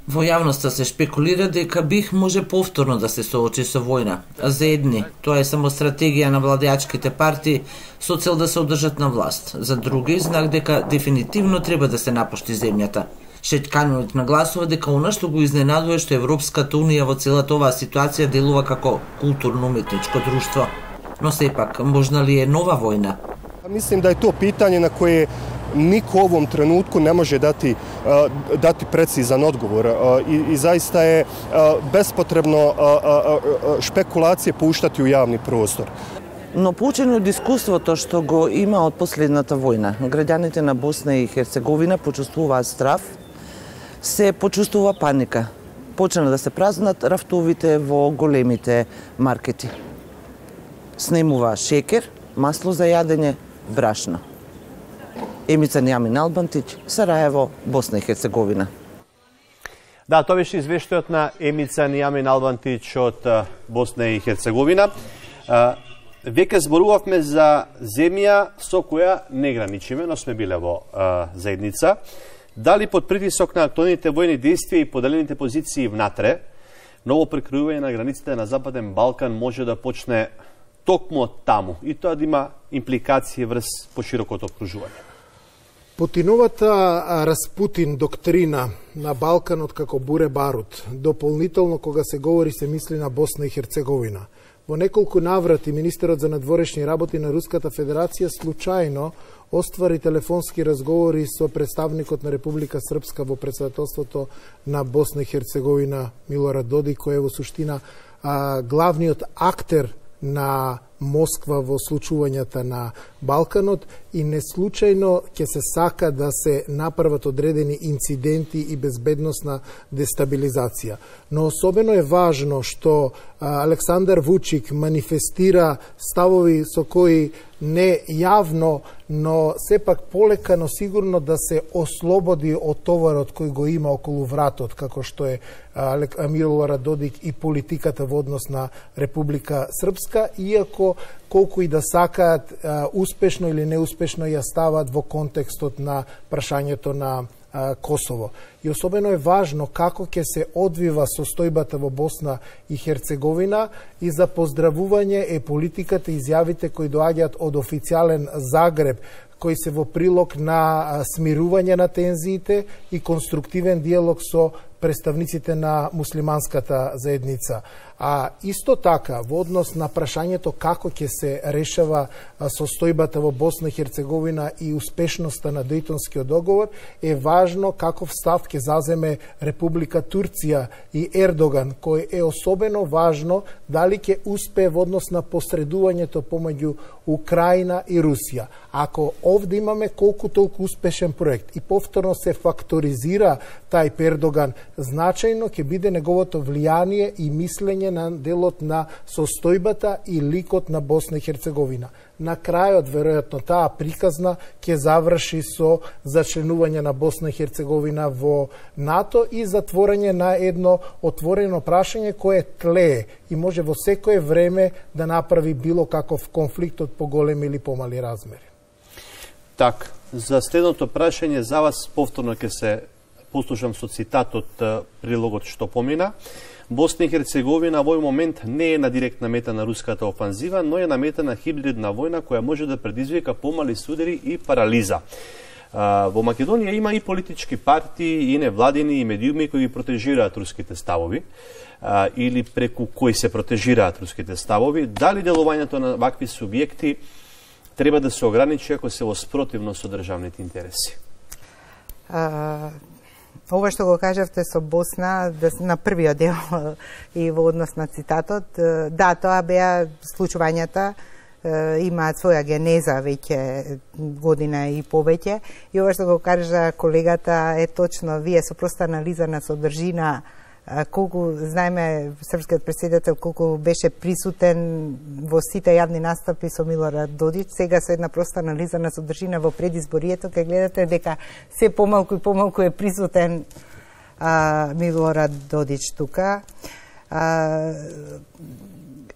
Во јавноста се шпекулира дека БиХ може повторно да се соочи со војна. А за едни, тоа е само стратегија на владеачките партии со цел да се одржат на власт. За други, знак дека дефинитивно треба да се напушти земјата. Шетјкановиќ нагласува дека она што го изненадува што Европската унија во целата оваа ситуација делува како културно-уметничко друштво. Но сепак, можна ли е нова војна? Mislim da je to pitanje na koje niko u ovom trenutku ne može dati, dati precizan odgovor i, i zaista je bespotrebno špekulacije puštati u javni prostor. Но поучени од искуството што го има од последната војна, граѓаните на Босна и Херцеговина почувствуваат страв, се почувствува паника. Почна да се празнат рафтовите во големите маркети. Снемува шекер, масло за јадење, брашно. Емица Њамин Албантиќ, Сараево, Босна и Херцеговина. Да, тоа беше извештајот на Емица Њамин Албантиќ од Босна и Херцеговина. Веќе зборувавме за земја со која не граничиме, но сме биле во заедница. Дали под притисок на актуелните војни действија и поделените позиции внатре, ново прекројување на границите на Западен Балкан може да почне токму таму и тоа да има импликации врз поширокото окружување. Путиновата Распутин доктрина на Балканот како буре барут, дополнително кога се говори се мисли на Босна и Херцеговина. Во неколку наврати министерот за надворешни работи на Руската Федерација случајно оствари телефонски разговори со представникот на Република Српска во председателството на Босна и Херцеговина Милорад Додик, кој е во суштина а, главниот актер на Москва во случувањата на Балканот и неслучајно ќе се сака да се направат одредени инциденти и безбедносна дестабилизација. Но особено е важно што Александар Вучик манифестира ставови со кои не јавно, но сепак полека, но сигурно да се ослободи од товарот кој го има околу вратот, како што е Милорад Додик и политиката во однос на Република Српска, иако колку и да сакаат успешно или неуспешно ја стават во контекстот на прашањето на Косово. И особено е важно како ќе се одвива состојбата во Босна и Херцеговина и за поздравување е политиката и изјавите кои доаѓаат од официјален Загреб, кои се во прилог на смирување на тензиите и конструктивен диалог со представниците на муслиманската заедница. А исто така, во однос на прашањето како ќе се решава состојбата во Босна и Херцеговина и успешноста на Дејтонскиот договор, е важно каков став ќе заземе Република Турција и Ердоган, кој е особено важно дали ќе успее во однос на посредувањето помеѓу Украина и Русија. Ако овде имаме колку толку успешен проект и повторно се факторизира тај Ердоган, значајно ќе биде неговото влијание и мислење на делот на состојбата и ликот на Босна и Херцеговина. На крајот, веројатно, таа приказна ќе заврши со зачленување на Босна и Херцеговина во НАТО и затворање на едно отворено прашање кое тлее и може во секое време да направи било каков конфликт од поголеми или помали размери. Так, за следното прашање за вас повторно ќе се послушам со цитат од прилогот што помина. Босна и Херцеговина во овој момент не е на директна мета на руската офанзива, но е на мета на хибридна војна која може да предизвика помали судери и парализа. Во Македонија има и политички партии, и невладини, и медиуми кои ги протежираат руските ставови, или преку кои се протежираат руските ставови. Дали делувањето на вакви субјекти треба да се ограничи ако се во спротивно со државните интереси? А... Ова што го кажавте со Босна, да, на првиот дел и во однос на цитатот, да, тоа беа случувањата, имаат своја генеза веќе година и повеќе. И ова што го кажа колегата е точно, вие со проста анализа на содржина, колку, знаеме, српскиот претседател колку беше присутен во сите јавни настапи со Милорад Додич, сега со една проста анализа на содржина во предизборието, кај гледате дека се помалку и помалку е присутен а, Милорад Додич тука. А,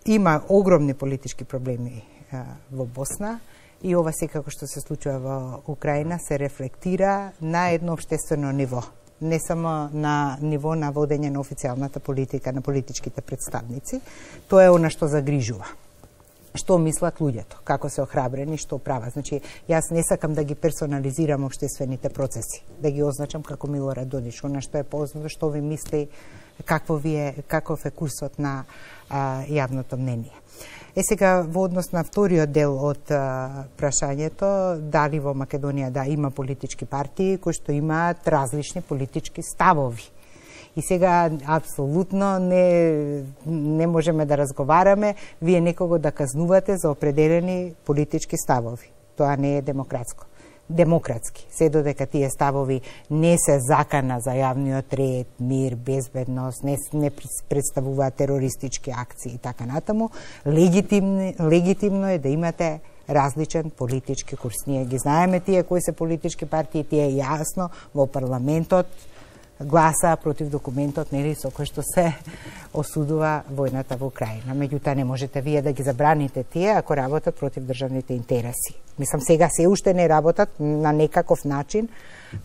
има огромни политички проблеми а, во Босна и ова секако што се случува во Украина се рефлектира на едно општествено ниво. Не само на ниво на водење на официјалната политика на политичките представници, тоа е она што загрижува. Што мислат луѓето, како се охрабрени, што прават. Значи, јас не сакам да ги персонализирам општествените процеси, да ги означам како Милорад Додич, она што е познато, што ви мисли, какво ви е, каков е курсот на а, јавното мнение. Е сега, во однос на вториот дел од а, прашањето, дали во Македонија да има политички партии кои што имаат различни политички ставови. И сега, апсолутно, не, не можеме да разговараме, вие некого да казнувате за определени политички ставови. Тоа не е демократско. Демократски, се додека тие ставови не се закана за јавниот ред, мир, безбедност, не, не представуваат терористички акции и така натаму, легитимно, легитимно е да имате различен политички курс. Ние ги знаеме тие кои се политички партии, тие јасно во парламентот гласа против документот, нели, со кој што се осудува војната во Украина. Меѓутоа не можете вие да ги забраните тие ако работат против државните интереси. Мислам, сега се уште не работат на некаков начин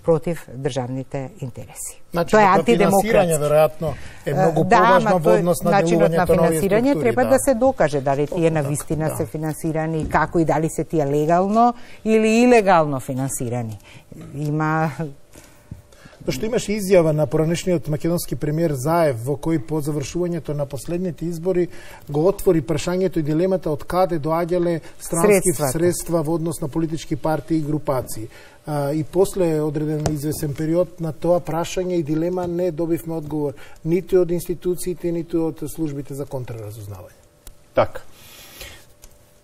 против државните интереси. Значи, тоа е антидемократски. Финансирање веројатно е многу да, поважно во однос на начинот делувањето на финансирање треба да. да се докаже дали тие навистина да. се финансирани, како и дали се тие легално или илегално финансирани. Има Што имаше изјава на поранешниот македонски премиер Заев, во кој по завршувањето на последните избори го отвори прашањето и дилемата од каде доаѓале странски Средствата. средства во однос на политички партии и групации. А, и после одреден извесен период на тоа прашање и дилема не добивме одговор ниту од институциите, ниту од службите за контраразузнавање. Така.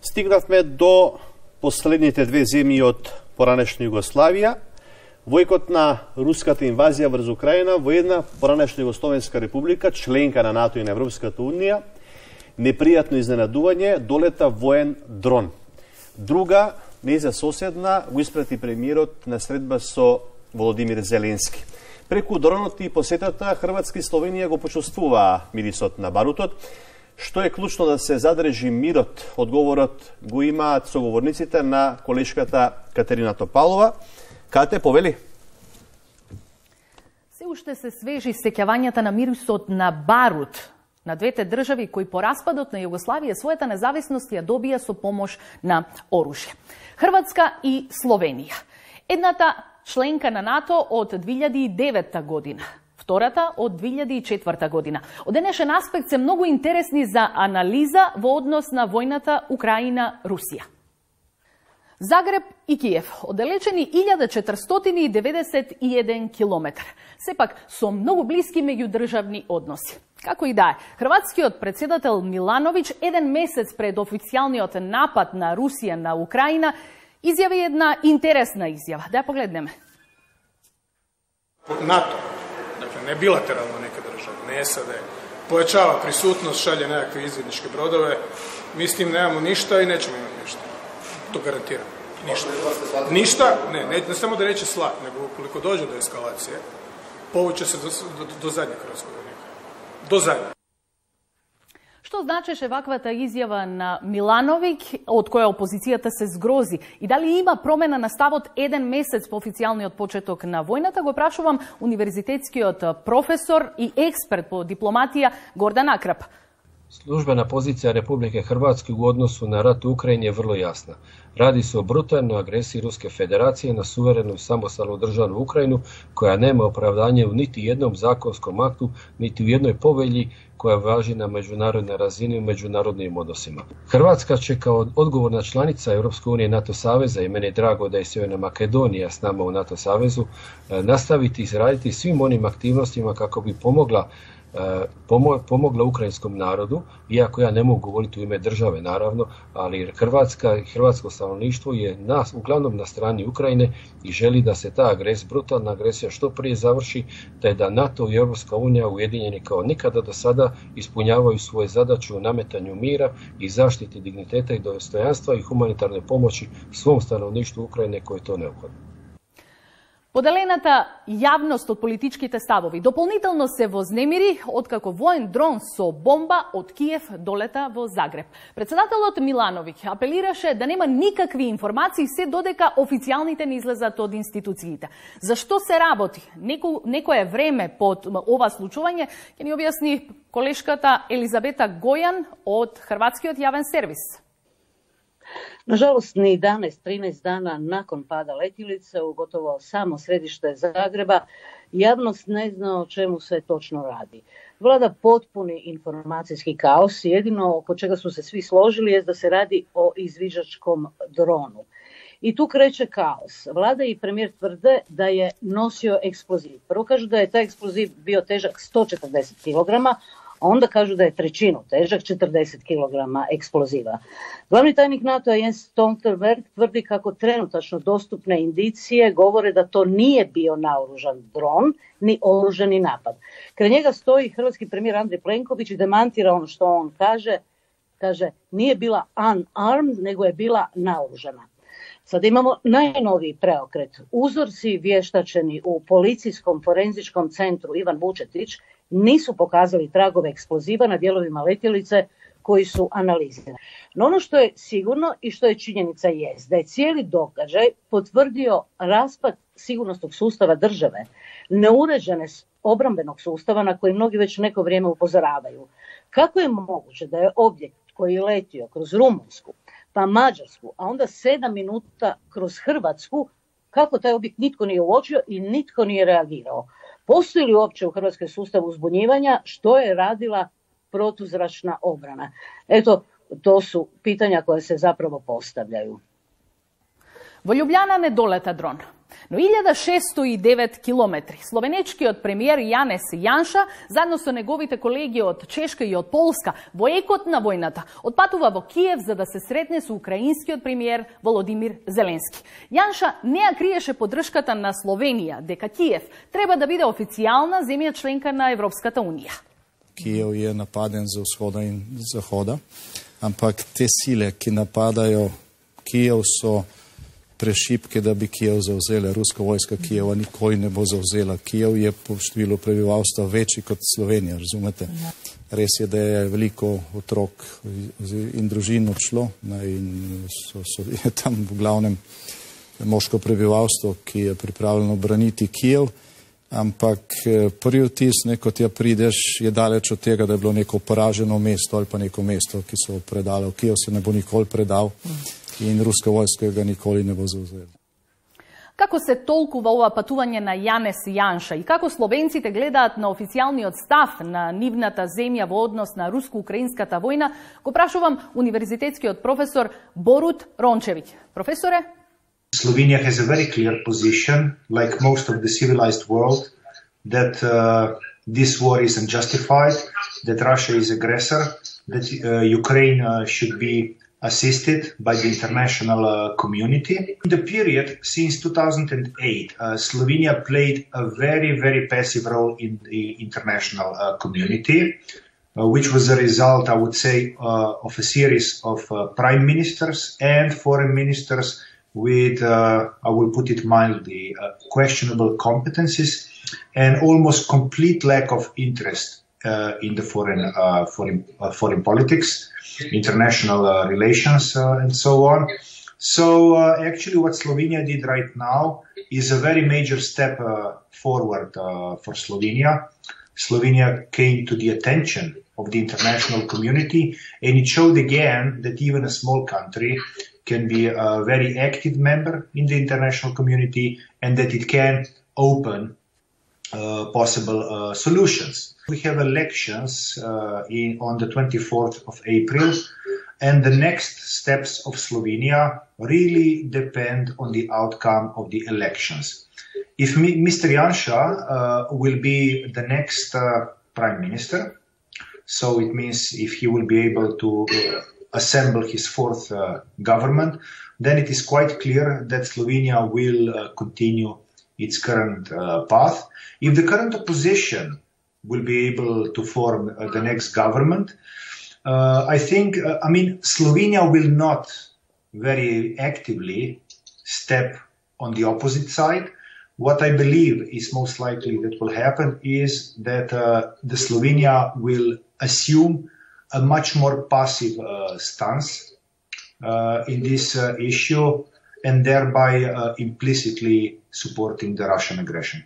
Стигнавме до последните две земји од поранешна Југославија. Војкот на руската инвазија врз Украина во една поранешна Југословенска република, членка на НАТО и на Европската унија, непријатно изненадување, долета воен дрон. Друга, нејза соседна, го испрати премиерот на средба со Володимир Зеленски. Преку дронот и посетата, Хрватска и Словенија го почувствуваа мирисот на барутот. Што е клучно да се задржи мирот? Одговорот го имаат соговорниците на колешката Катерина Топалова. Кате, повели? Се уште се свежи сеќавањата на мирисот на барут на двете држави кои по распадот на Југославија својата независност ја добија со помош на оружје. Хрватска и Словенија. Едната членка на НАТО од две илјади и девета година. втората од две илјади и четврта година. Од денешен аспект се многу интересни за анализа во однос на војната Украина-Русија. Загреб и Киев, оддалечени илјада четиристотини и деветдесет и еден километар, сепак со многу блиски меѓудржавни односи. Како и да е, хрватскиот председател Милановиќ еден месец пред официјалниот напад на Русија на Украина изјави една интересна изјава. Да ја погледнеме. НАТО, dakle ne bilateralno neke države, ne S A D, pojačava prisutnost, šalje nekakve izvidničke brodove, mi s tim nemamo ništa i nećemo imati ništa. To garantiram. Ništa. Ništa, ne, ne, ne samo da neće slat, nego ukoliko dođe do eskalacije, povuće se do, do, do zadnjeg hrvatskog vojnika. Do zadnjeg. Што значеше ваквата изјава на Милановиќ, од која опозицијата се згрози? И дали има промена на ставот еден месец по официјалниот почеток на војната? Го прашувам универзитетскиот професор и експерт по дипломатија Гордан Акрап. Službena pozicija Republike Hrvatske u odnosu na rat u Ukrajini je vrlo jasna. Radi se o brutalnoj agresiji Ruske federacije na suverenu i samostalnu državu Ukrajinu, koja nema opravdanje u niti jednom zakonskom aktu, niti u jednoj povelji koja važi na međunarodnoj razini u međunarodnim odnosima. Hrvatska će kao odgovorna članica Europske unije i NATO saveza, i meni je drago da je Sjeverna Makedonija s nama u NATO savezu, nastaviti izraditi svim onim aktivnostima kako bi pomogla pomogla ukrajinskom narodu, iako ja ne mogu govoriti u ime države naravno, ali Hrvatska i hrvatsko stanovništvo je nas, uglavnom na strani Ukrajine i želi da se ta agres, brutalna agresija što prije završi, te da NATO i Europska unija ujedinjeni kao nikada do sada ispunjavaju svoje zadaće u nametanju mira i zaštiti digniteta i dostojanstva i humanitarne pomoći svom stanovništvu Ukrajine koje je to neophodno. Поделената јавност од политичките ставови дополнително се вознемири откако воен дрон со бомба од Киев долета во Загреб. Председателот Милановиќ апелираше да нема никакви информации се додека официјалните не излезат од институциите. Зашто се работи Неко, некое време под ова случување ќе ни објасни колешката Елизабета Гојан од Хрватскиот јавен сервис. Nažalost, ni jedanaest trinaest dana nakon pada letjelice u gotovo samo središte Zagreba, javnost ne zna o čemu se točno radi. Vlada potpuni informacijski kaos i jedino oko čega su se svi složili je da se radi o izviđačkom dronu. I tu kreće kaos. Vlada i premijer tvrde da je nosio eksploziv. Prvo kažu da je taj eksploziv bio težak sto četrdeset kilograma, a onda kažu da je trećinu težak četrdeset kilograma eksploziva. Glavni tajnik NATO-a Jens Stoltenberg tvrdi kako trenutačno dostupne indicije govore da to nije bio naoružan dron, ni oružani napad. Kraj njega stoji hrvatski premijer Andrej Plenković i demantira ono što on kaže. Kaže, nije bila unarmed, nego je bila naoružana. Sada imamo najnoviji preokret. Uzorci vještačeni u policijskom forenzičkom centru Ivan Vučetić nisu pokazali tragove eksploziva na dijelovima letjelice koji su analizirani. No ono što je sigurno i što je činjenica jest da je cijeli događaj potvrdio raspad sigurnosnog sustava države, neuređene obrambenog sustava na koji mnogi već neko vrijeme upozoravaju. Kako je moguće da je objekt koji je letio kroz Rumunjsku, pa Mađarsku, a onda sedam minuta kroz Hrvatsku, kako taj objekt nitko nije uočio i nitko nije reagirao? Postoji li uopće u Hrvatskoj sustav uzbunjivanja, što je radila protuzračna obrana? Eto, to su pitanja koje se zapravo postavljaju. Во Љубљана не долета дрон, но илјада шестоста и девет километри. Словенечкиот премиер Јанес Јанша, заедно со неговите колеги од Чешка и од Полска, во екот на војната, отпатува во Киев за да се сретне со украинскиот премиер Володимир Зеленски. Јанша не ја криеше поддршката на Словенија, дека Киев треба да биде официјална земја членка на Европската унија. Киев е нападен за усхода и захода, ампак те силе ки нападају Киев со prešipke, da bi Kijev zauzela. Ruska vojska Kijeva nikoli ne bo zauzela. Kijev je po številu prebivalstva večji kot Slovenija, razumete? Res je, da je veliko otrok in družin odšlo in so, so, je tam v glavnem moško prebivalstvo, ki je pripravljeno braniti Kijev, ampak prvi vtis, ko tja prideš, je daleč od tega, da je bilo neko poraženo mesto ali pa neko mesto, ki so predali. Kijev se ne bo nikoli predal in ruska vojska ga nikoli ne bo zauzela. Како се толкува ова патување на Јанес Јанша и како словенците гледаат на официјалниот став на нивната земја во однос на руско-украинската војна, го прашувам универзитетскиот професор Борут Рончевиќ. Професоре? Slovenia has a very clear position, like most of the civilized world, that uh, this war is unjustified, that Russia is aggressor, that uh, Ukraine uh, should be assisted by the international uh, community. In the period since two thousand eight, uh, Slovenia played a very, very passive role in the international uh, community, uh, which was a result, I would say, uh, of a series of uh, prime ministers and foreign ministers with, uh, I will put it mildly, uh, questionable competencies and almost complete lack of interest uh, in the foreign, uh, foreign, uh, foreign politics, international uh, relations, uh, and so on. So uh, actually what Slovenia did right now is a very major step uh, forward uh, for Slovenia. Slovenia came to the attention of the international community, and it showed again that even a small country can be a very active member in the international community and that it can open uh, possible uh, solutions. We have elections uh, in, on the twenty-fourth of April, and the next steps of Slovenia really depend on the outcome of the elections. If Mister Janša uh, will be the next uh, prime minister, so it means if he will be able to uh, assemble his fourth uh, government, then it is quite clear that Slovenia will uh, continue its current uh, path. If the current opposition will be able to form uh, the next government, uh, I think, uh, I mean, Slovenia will not very actively step on the opposite side. What I believe is most likely that will happen is that uh, the Slovenia will assume a much more passive uh, stance uh, in this uh, issue and thereby uh, implicitly supporting the Russian aggression.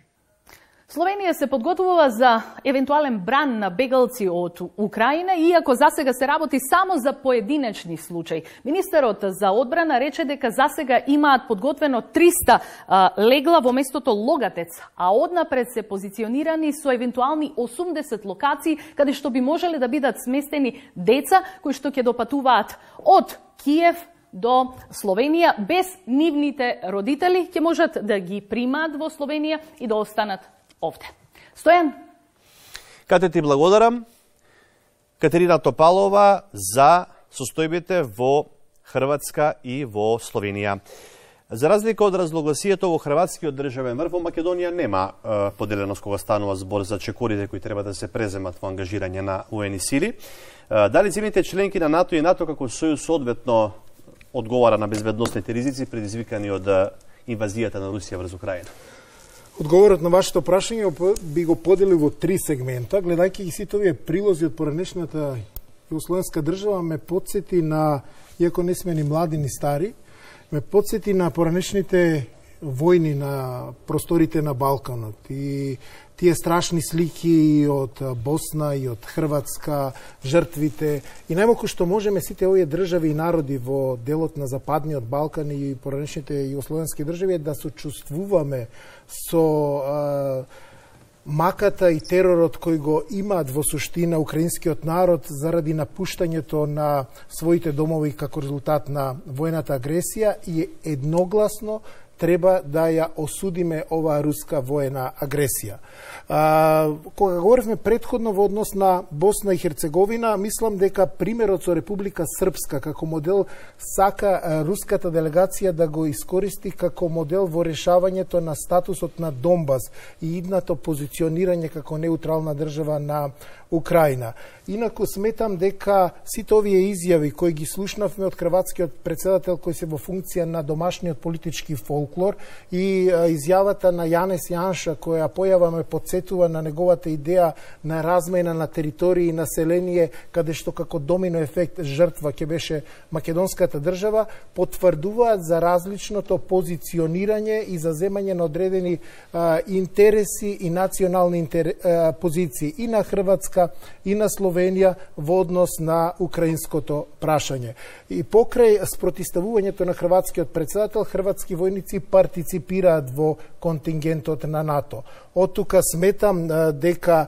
Словенија се подготвува за евентуален бран на бегалци од Украина, иако засега се работи само за поединечни случаи. Министерот за одбрана рече дека засега имаат подготвено триста а, легла во местото Логатец, а однапред се позиционирани со евентуални осумдесет локации каде што би можеле да бидат сместени деца кои што ќе допатуваат од Киев до Словенија без нивните родители, ќе можат да ги примаат во Словенија и да останат овде. Стојан? Кате ти благодарам, Катерина Топалова, за состојбите во Хрватска и во Словенија. За разлика од разногласието во Хрватскиот државен врв, во Македонија нема е, поделеност кога станува збор за чекорите кои треба да се преземат во ангажирање на воени сили. Е, дали земјите членки на НАТО и НАТО како сојуз соодветно одговара на безбедносните ризици предизвикани од инвазијата на Русија врз Украина? Одговорот на вашето прашање би го поделил во три сегмента. Гледајќи ги сите овие прилози од поранешната југословенска држава, ме подсети на, иако не сме ни млади ни стари, ме подсети на поранешните војни на просторите на Балканот и тие страшни слики од Босна и од Хрватска, жртвите. И најмалку што можеме сите овие држави и народи во делот на Западниот Балкан и поранешните југословенски држави да сочувствуваме со а, маката и теророт кој го имаат во суштина украинскиот народ заради напуштањето на своите домови како резултат на војната агресија и едногласно треба да ја осудиме оваа руска воена агресија. А, кога говоревме предходно во однос на Босна и Херцеговина, мислам дека примерот со Република Српска како модел сака а, руската делегација да го искористи како модел во решавањето на статусот на Донбас и идното позиционирање како неутрална држава на Украина. Инаку сметам дека сите овие изјави кои ги слушнавме од хрватскиот председател кој се во функција на домашниот политички фолклор и а, изјавата на Јанес Јанша која појава ме подсетува на неговата идеја на размена на територии и население каде што како домино ефект жртва ќе беше македонската држава, потврдуваат за различното позиционирање и за земање на одредени а, интереси и национални интер, а, позиции и на Хрватска и на Словенија во однос на украинското прашање. И покрај спротиставувањето на хрватскиот председател, хрватски војници войници партиципираат во контингентот на НАТО. Од тука сметам дека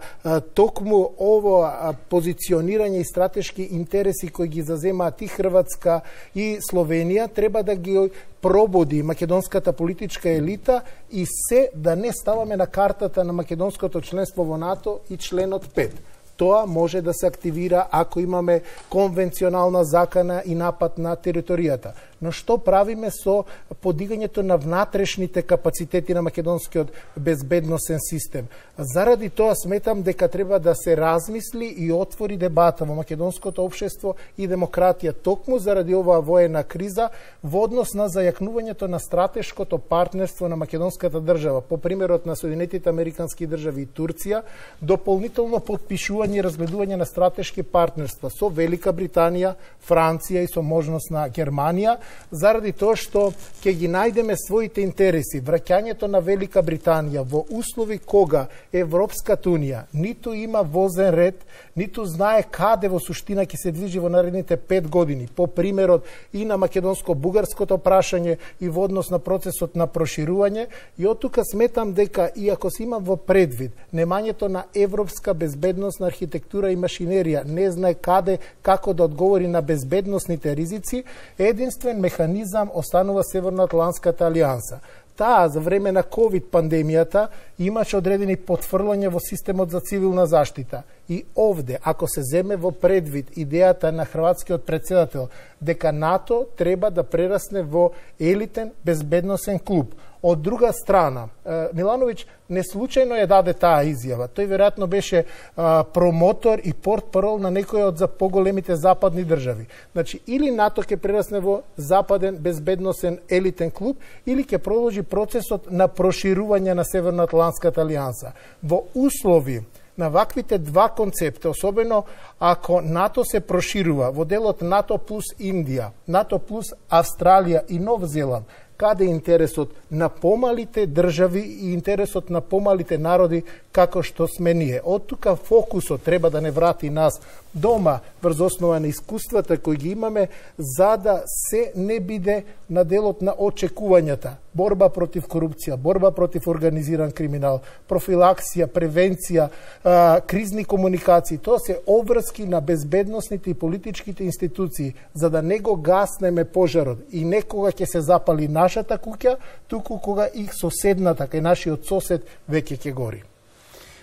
токму ово позиционирање и стратешки интереси кои ги заземаат и Хрватска и Словенија треба да ги пробуди македонската политичка елита и се да не ставаме на картата на македонското членство во НАТО и членот пет. Тоа може да се активира ако имаме конвенционална закана и напад на територијата. Но што правиме со подигањето на внатрешните капацитети на македонскиот безбедносен систем? Заради тоа сметам дека треба да се размисли и отвори дебата во македонското општество и демократија токму заради оваа воена криза во однос на зајакнувањето на стратешкото партнерство на македонската држава, по примерот на Соединетите Американски држави и Турција, дополнително подпишување и разгледување на стратешки партнерства со Велика Британија, Франција и со можност на Германија, заради тоа што ќе ги најдеме своите интереси. Враќањето на Велика Британија во услови кога Европската Унија ниту има возен ред, ниту знае каде во суштина ќе се движи во наредните пет години, по примерот и на македонско-бугарското прашање и во однос на процесот на проширување, и од тука сметам дека иако се има во предвид немањето на европска безбедносна архитектура и машинерија, не знае каде, како да одговори на безбедносните ризици, единствен механизам останува Северноатлантската алијанса. Таа за време на ковид пандемијата имаше одредени потфрлања во системот за цивилна заштита. И овде, ако се земе во предвид идејата на хрватскиот председател дека НАТО треба да прерасне во елитен безбедносен клуб. Од друга страна, Милановиќ не случајно ја даде таа изјава. Тој веројатно беше а, промотор и портпарол на некој од за поголемите западни држави. Значи, или НАТО ќе прерасне во западен безбедносен елитен клуб, или ќе продолжи процесот на проширување на Северноатлантската алијанса. Во услови на ваквите два концепта, особено ако НАТО се проширува во делот НАТО плюс Индија, НАТО плюс Австралија и Нов Зеланд, каде е интересот на помалите држави и интересот на помалите народи како што сме ние. Од тука фокусот треба да не врати нас дома врз основа на искуствата кои ги имаме, за да се не биде на делот на очекувањата. Борба против корупција, борба против организиран криминал, профилаксија, превенција, а, кризни комуникации. Тоа се обврски на безбедносните и политичките институции, за да не го гаснеме пожарот и некога ќе се запали нашата куќа, туку кога и соседната, кај нашиот сосед, веќе ќе гори.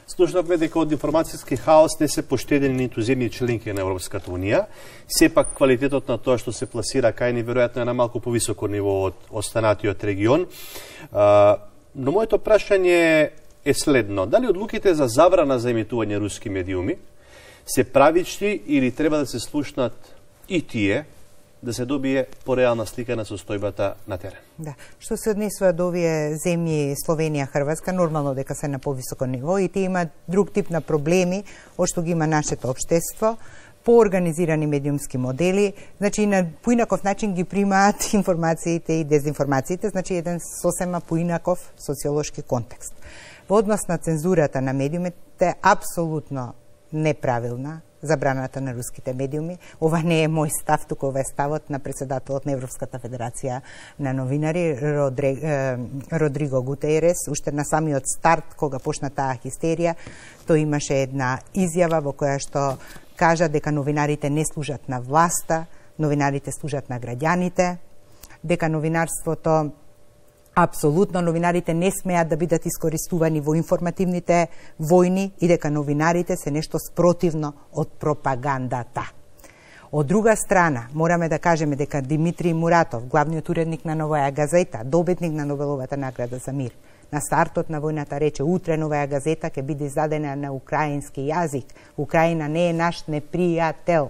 Слушнавме дека од информацијски хаос не се поштедени ниту земји членки на Европската Унија. Сепак квалитетот на тоа што се пласира кај ни веројатно е на малку повисоко ниво од останатиот регион. А, но моето прашање е следно. Дали одлуките за забрана за емитување руски медиуми се правични или треба да се слушнат и тие, да се добие пореална слика на состојбата на терен? Да. Што се однесува до овие земји Словенија, Хрватска, нормално дека се на повисоко ниво и тие имаат друг тип на проблеми од што ги има нашето општество, поорганизирани медиумски модели, значи на поинаков начин ги примаат информациите и дезинформациите, значи еден сосема поинаков социолошки контекст. Во однос на цензурата на медиумите, апсолутно неправилна забраната на руските медиуми. Ова не е мој став, туку ова е ставот на председателот на Европската федерација на новинари Родри, е, Родриго Гутејрес. Уште на самиот старт, кога почна таа хистерија, тој имаше една изјава во која што кажа дека новинарите не служат на власта, новинарите служат на граѓаните, дека новинарството апсолутно новинарите не смеат да бидат искористувани во информативните војни и дека новинарите се нешто спротивно од пропагандата. Од друга страна, мораме да кажеме дека Димитри Муратов, главниот уредник на Новаја газета, добитник на Нобеловата награда за мир, на стартот на војната рече: утре Новаја газета ќе биде издадена на украински јазик. Украина не е наш непријател.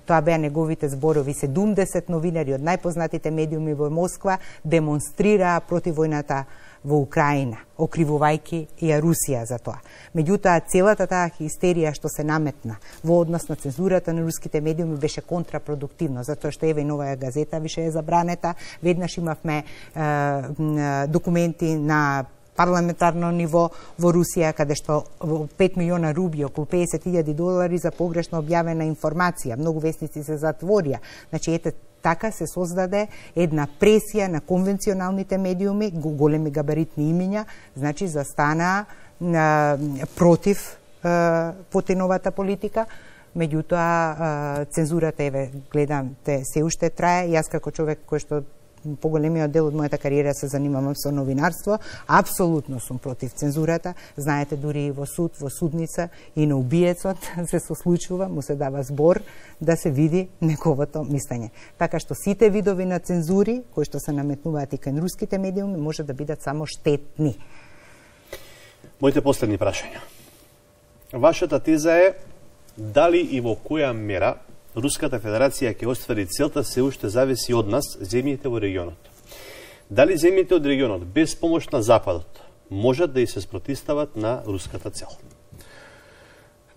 Тоа беа неговите зборови. седумдесет новинари од најпознатите медиуми во Москва демонстрираа против војната во Украина, окривувајќи и Русија за тоа. Меѓутоа, целата таа хистерија што се наметна во однос на цензурата на руските медиуми беше контрапродуктивно, затоа што еве и Новаја газета више е забранета. Веднаш имавме е, документи на парламентарно ниво во Русија, каде што пет милиона руби, околу педесет илјади долари за погрешно објавена информација. Многу весници се затворија. Значи, ете, Така се создаде една пресија на конвенционалните медиуми, големи габаритни имиња, значи застана а, против а, Путиновата политика. Меѓутоа, цензурата, еве, гледам, те се уште трае. Јас како човек кој што поголемиот дел од мојата кариера се занимавам со новинарство, апсолутно сум против цензурата. Знаете, дури и во суд, во судница и на убиецот се сослучува, му се дава збор да се види неговото мислење. Така што сите видови на цензури, кои што се наметнуваат и кај руските медиуми, може да бидат само штетни. Моите последни прашања. Вашата теза е дали и во која мера Руската Федерација ќе оствари целта се уште зависи од нас, земјите во регионот. Дали земјите од регионот без помош на Западот можат да и се спротистават на руската цел?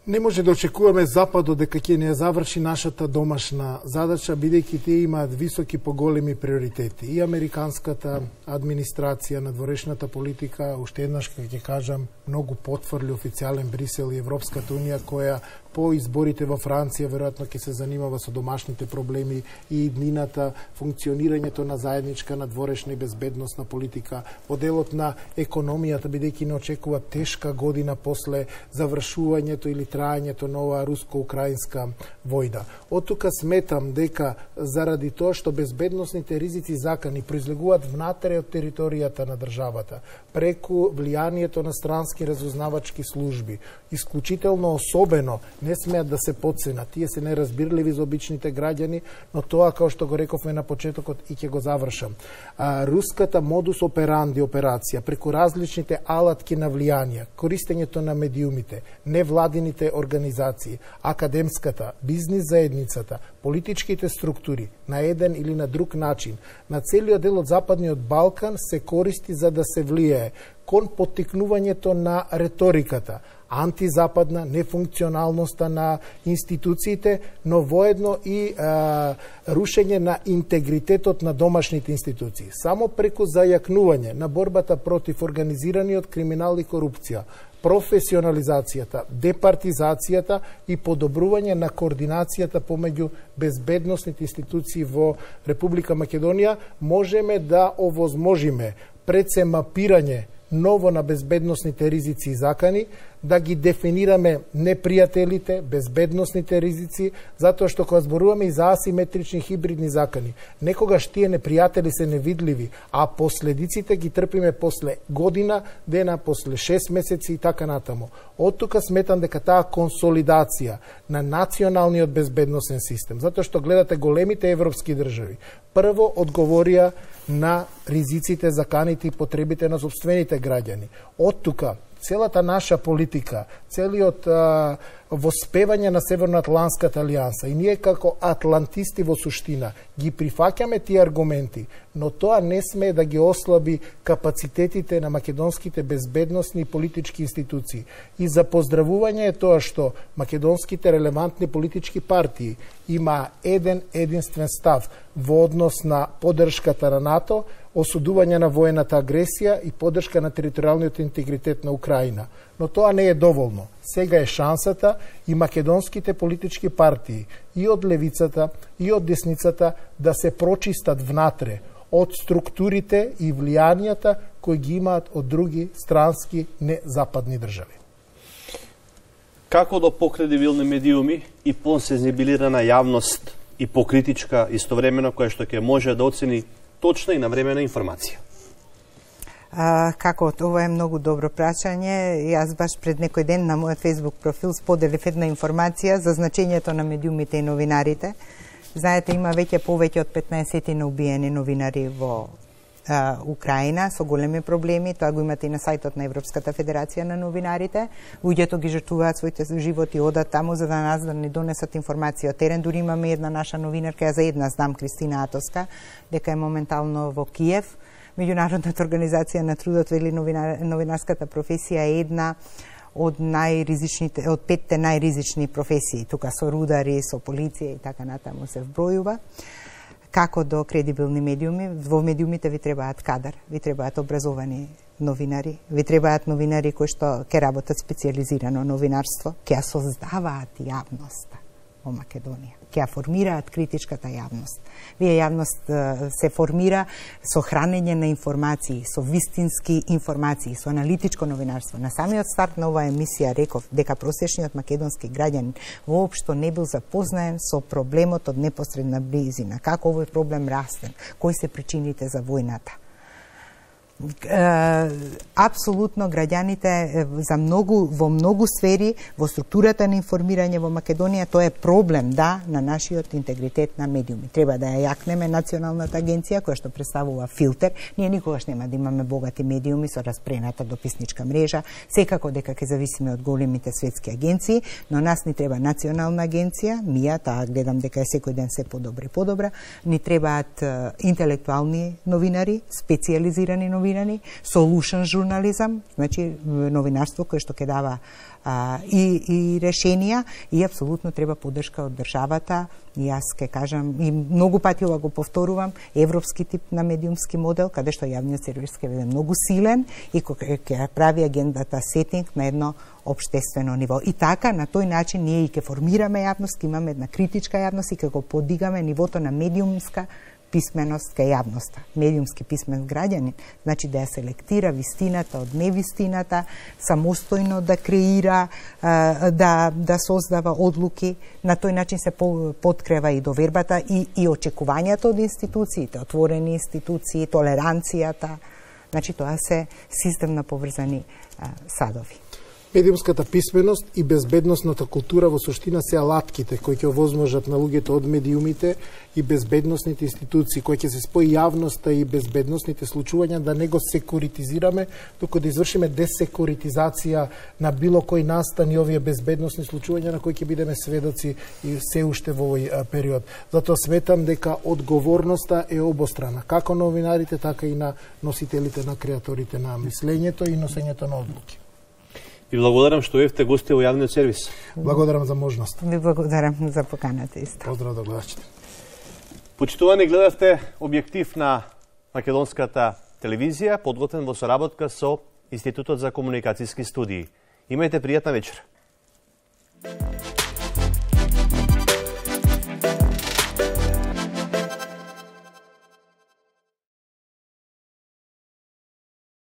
Не може да очекуваме Западот дека ќе не заврши нашата домашна задача, бидејќи тие имаат високи поголеми приоритети. И американската администрација, надворешната политика, уште еднаш ќе кажам, многу потврли официјален Брисел и Европската унија, која по изборите во Франција веројатно ќе се занимава со домашните проблеми и иднината, функционирањето на заедничка надворешна и безбедносна политика, во делот на економијата, бидејќи не очекува тешка година после завршувањето или трајањето на оваа руско-украинска војна. Од тука сметам дека заради тоа што безбедносните ризици закани произлегуваат внатре од територијата на државата, преку влијанието на странски разузнавачки служби, исклучително особено не смеат да се подценат. Тие се неразбирливи за обичните граѓани, но тоа, како што го рековме на почетокот, и ќе го завршам. А, руската модус операнди операција, преку различните алатки на влијанија, користењето на медиумите, невладините организации, академската, бизнис заедницата, политичките структури, на еден или на друг начин, на целиот дел од Западниот Балкан се користи за да се влијае кон поттикнувањето на реториката, антизападна, нефункционалноста на институциите, но воедно и а, рушење на интегритетот на домашните институции. Само преку зајакнување на борбата против организираниот криминал и корупција, професионализацијата, департизацијата и подобрување на координацијата помеѓу безбедносните институции во Република Македонија, можеме да овозможиме пред се мапирање ново на безбедносните ризици и закани, да ги дефинираме непријателите, безбедносните ризици, затоа што кога зборуваме и за асиметрични хибридни закани, некогаш тие непријатели се невидливи, а последиците ги трпиме после година, дена, после шест месеци и така натаму. Од тука сметам дека таа консолидација на националниот безбедносен систем, затоа што гледате големите европски држави, прво одговорија на ризиците, заканите и потребите на собствените граѓани. Од тука целата наша политика, целиот а, воспевање на Северноатлантската алијанса и ние како атлантисти во суштина ги прифаќаме тие аргументи, но тоа не смее да ги ослаби капацитетите на македонските безбедносни и политички институции. И за поздравување е тоа што македонските релевантни политички партии има еден единствен став во однос на поддршката на НАТО, осудување на воената агресија и поддршка на територијалниот интегритет на Украина. Но тоа не е доволно. Сега е шансата и македонските политички партии, и од левицата, и од десницата, да се прочистат внатре од структурите и влијанијата кои ги имаат од други странски незападни држави. Како до покредибилни медиуми и посензибилирана јавност и покритичка истовремено, која што ќе може да оцени точна и навремена информација? А, како, ова е многу добро прашање. Јас баш пред некој ден на мојот Facebook профил споделив една информација за значењето на медиумите и новинарите. Знаете, има веќе повеќе од петнаесет на убиени новинари во а, Украина со големи проблеми. Тоа го имате и на сајтот на Европската федерација на новинарите. Луѓето ги жртвуваат своите животи, одат таму за да нас да не донесат информација од терен. Дури имаме една наша новинарка, ја за една знам, Кристина Атоска, дека е моментално во Киев. Меѓународната организација на трудот вели новинар, новинарската професија е една од најризичните, од петте најризични професии. Тука со рудари, со полиција и така натаму се вбројува. Како до кредибилни медиуми, во медиумите ви требаат кадар, ви требаат образовани новинари, ви требаат новинари кои што ќе работат специјализирано новинарство, ќе ја создаваат јавноста. во Македонија. Ќе ја формираат критичката јавност. Вие јавност се формира со хранење на информации, со вистински информации, со аналитичко новинарство. На самиот старт на оваа емисија реков дека просечниот македонски граѓанин воопшто не бил запознаен со проблемот од непосредна близина. Како овој проблем расте, кои се причините за војната. Апсолутно граѓаните за многу во многу сфери во структурата на информирање во Македонија тоа е проблем да на нашиот интегритет на медиуми. Треба да ја јакнеме националната агенција која што представува филтер. Ние никогаш нема да имаме богати медиуми со распрената дописничка мрежа. Секако дека ќе зависиме од големите светски агенции, но нас ни треба национална агенција. Мија таа гледам дека е секој ден се подобра и подобра. Ни требаат интелектуални новинари, специјализирани новинари, solution журнализам, значи новинарство кое што ќе дава а, и, и решенија и апсолутно треба поддршка од државата. И јас ке кажам, и многу пати ова го повторувам, европски тип на медиумски модел, каде што јавниот сервис ќе биде многу силен и ќе прави агендата сетинг на едно општествено ниво. И така, на тој начин, ние и ќе формираме јавност, имаме една критичка јавност и ќе го подигаме нивото на медиумска писменост кај јавноста. Медиумски писмен граѓанин, значи да ја селектира вистината од невистината, самостојно да креира, да, да создава одлуки, на тој начин се подкрива и довербата и, и очекувањата од институциите, отворени институции, толеранцијата, значи тоа се системно поврзани садови. Медиумската писменост и безбедносната култура во суштина се алатките кои ќе овозможат на луѓето од медиумите и безбедносните институции кои ќе се спои јавноста и безбедносните случувања да не го секуритизираме, туку да извршиме десекуритизација на било кој настан и овие безбедносни случувања на кои ќе бидеме сведоци и се уште во овој период. Затоа сметам дека одговорноста е обострана, како новинарите, така и на носителите, на креаторите на мислењето и носењето на одлуки. Ви благодарам што бевте гости во јавниот сервис. Благодарам за можност. Ви благодарам за поканата исто. Поздрав до гледачите. Почитувани, гледавте објектив на македонската телевизија, подготвен во соработка со Институтот за комуникацијски студии. Имајте пријатна вечер.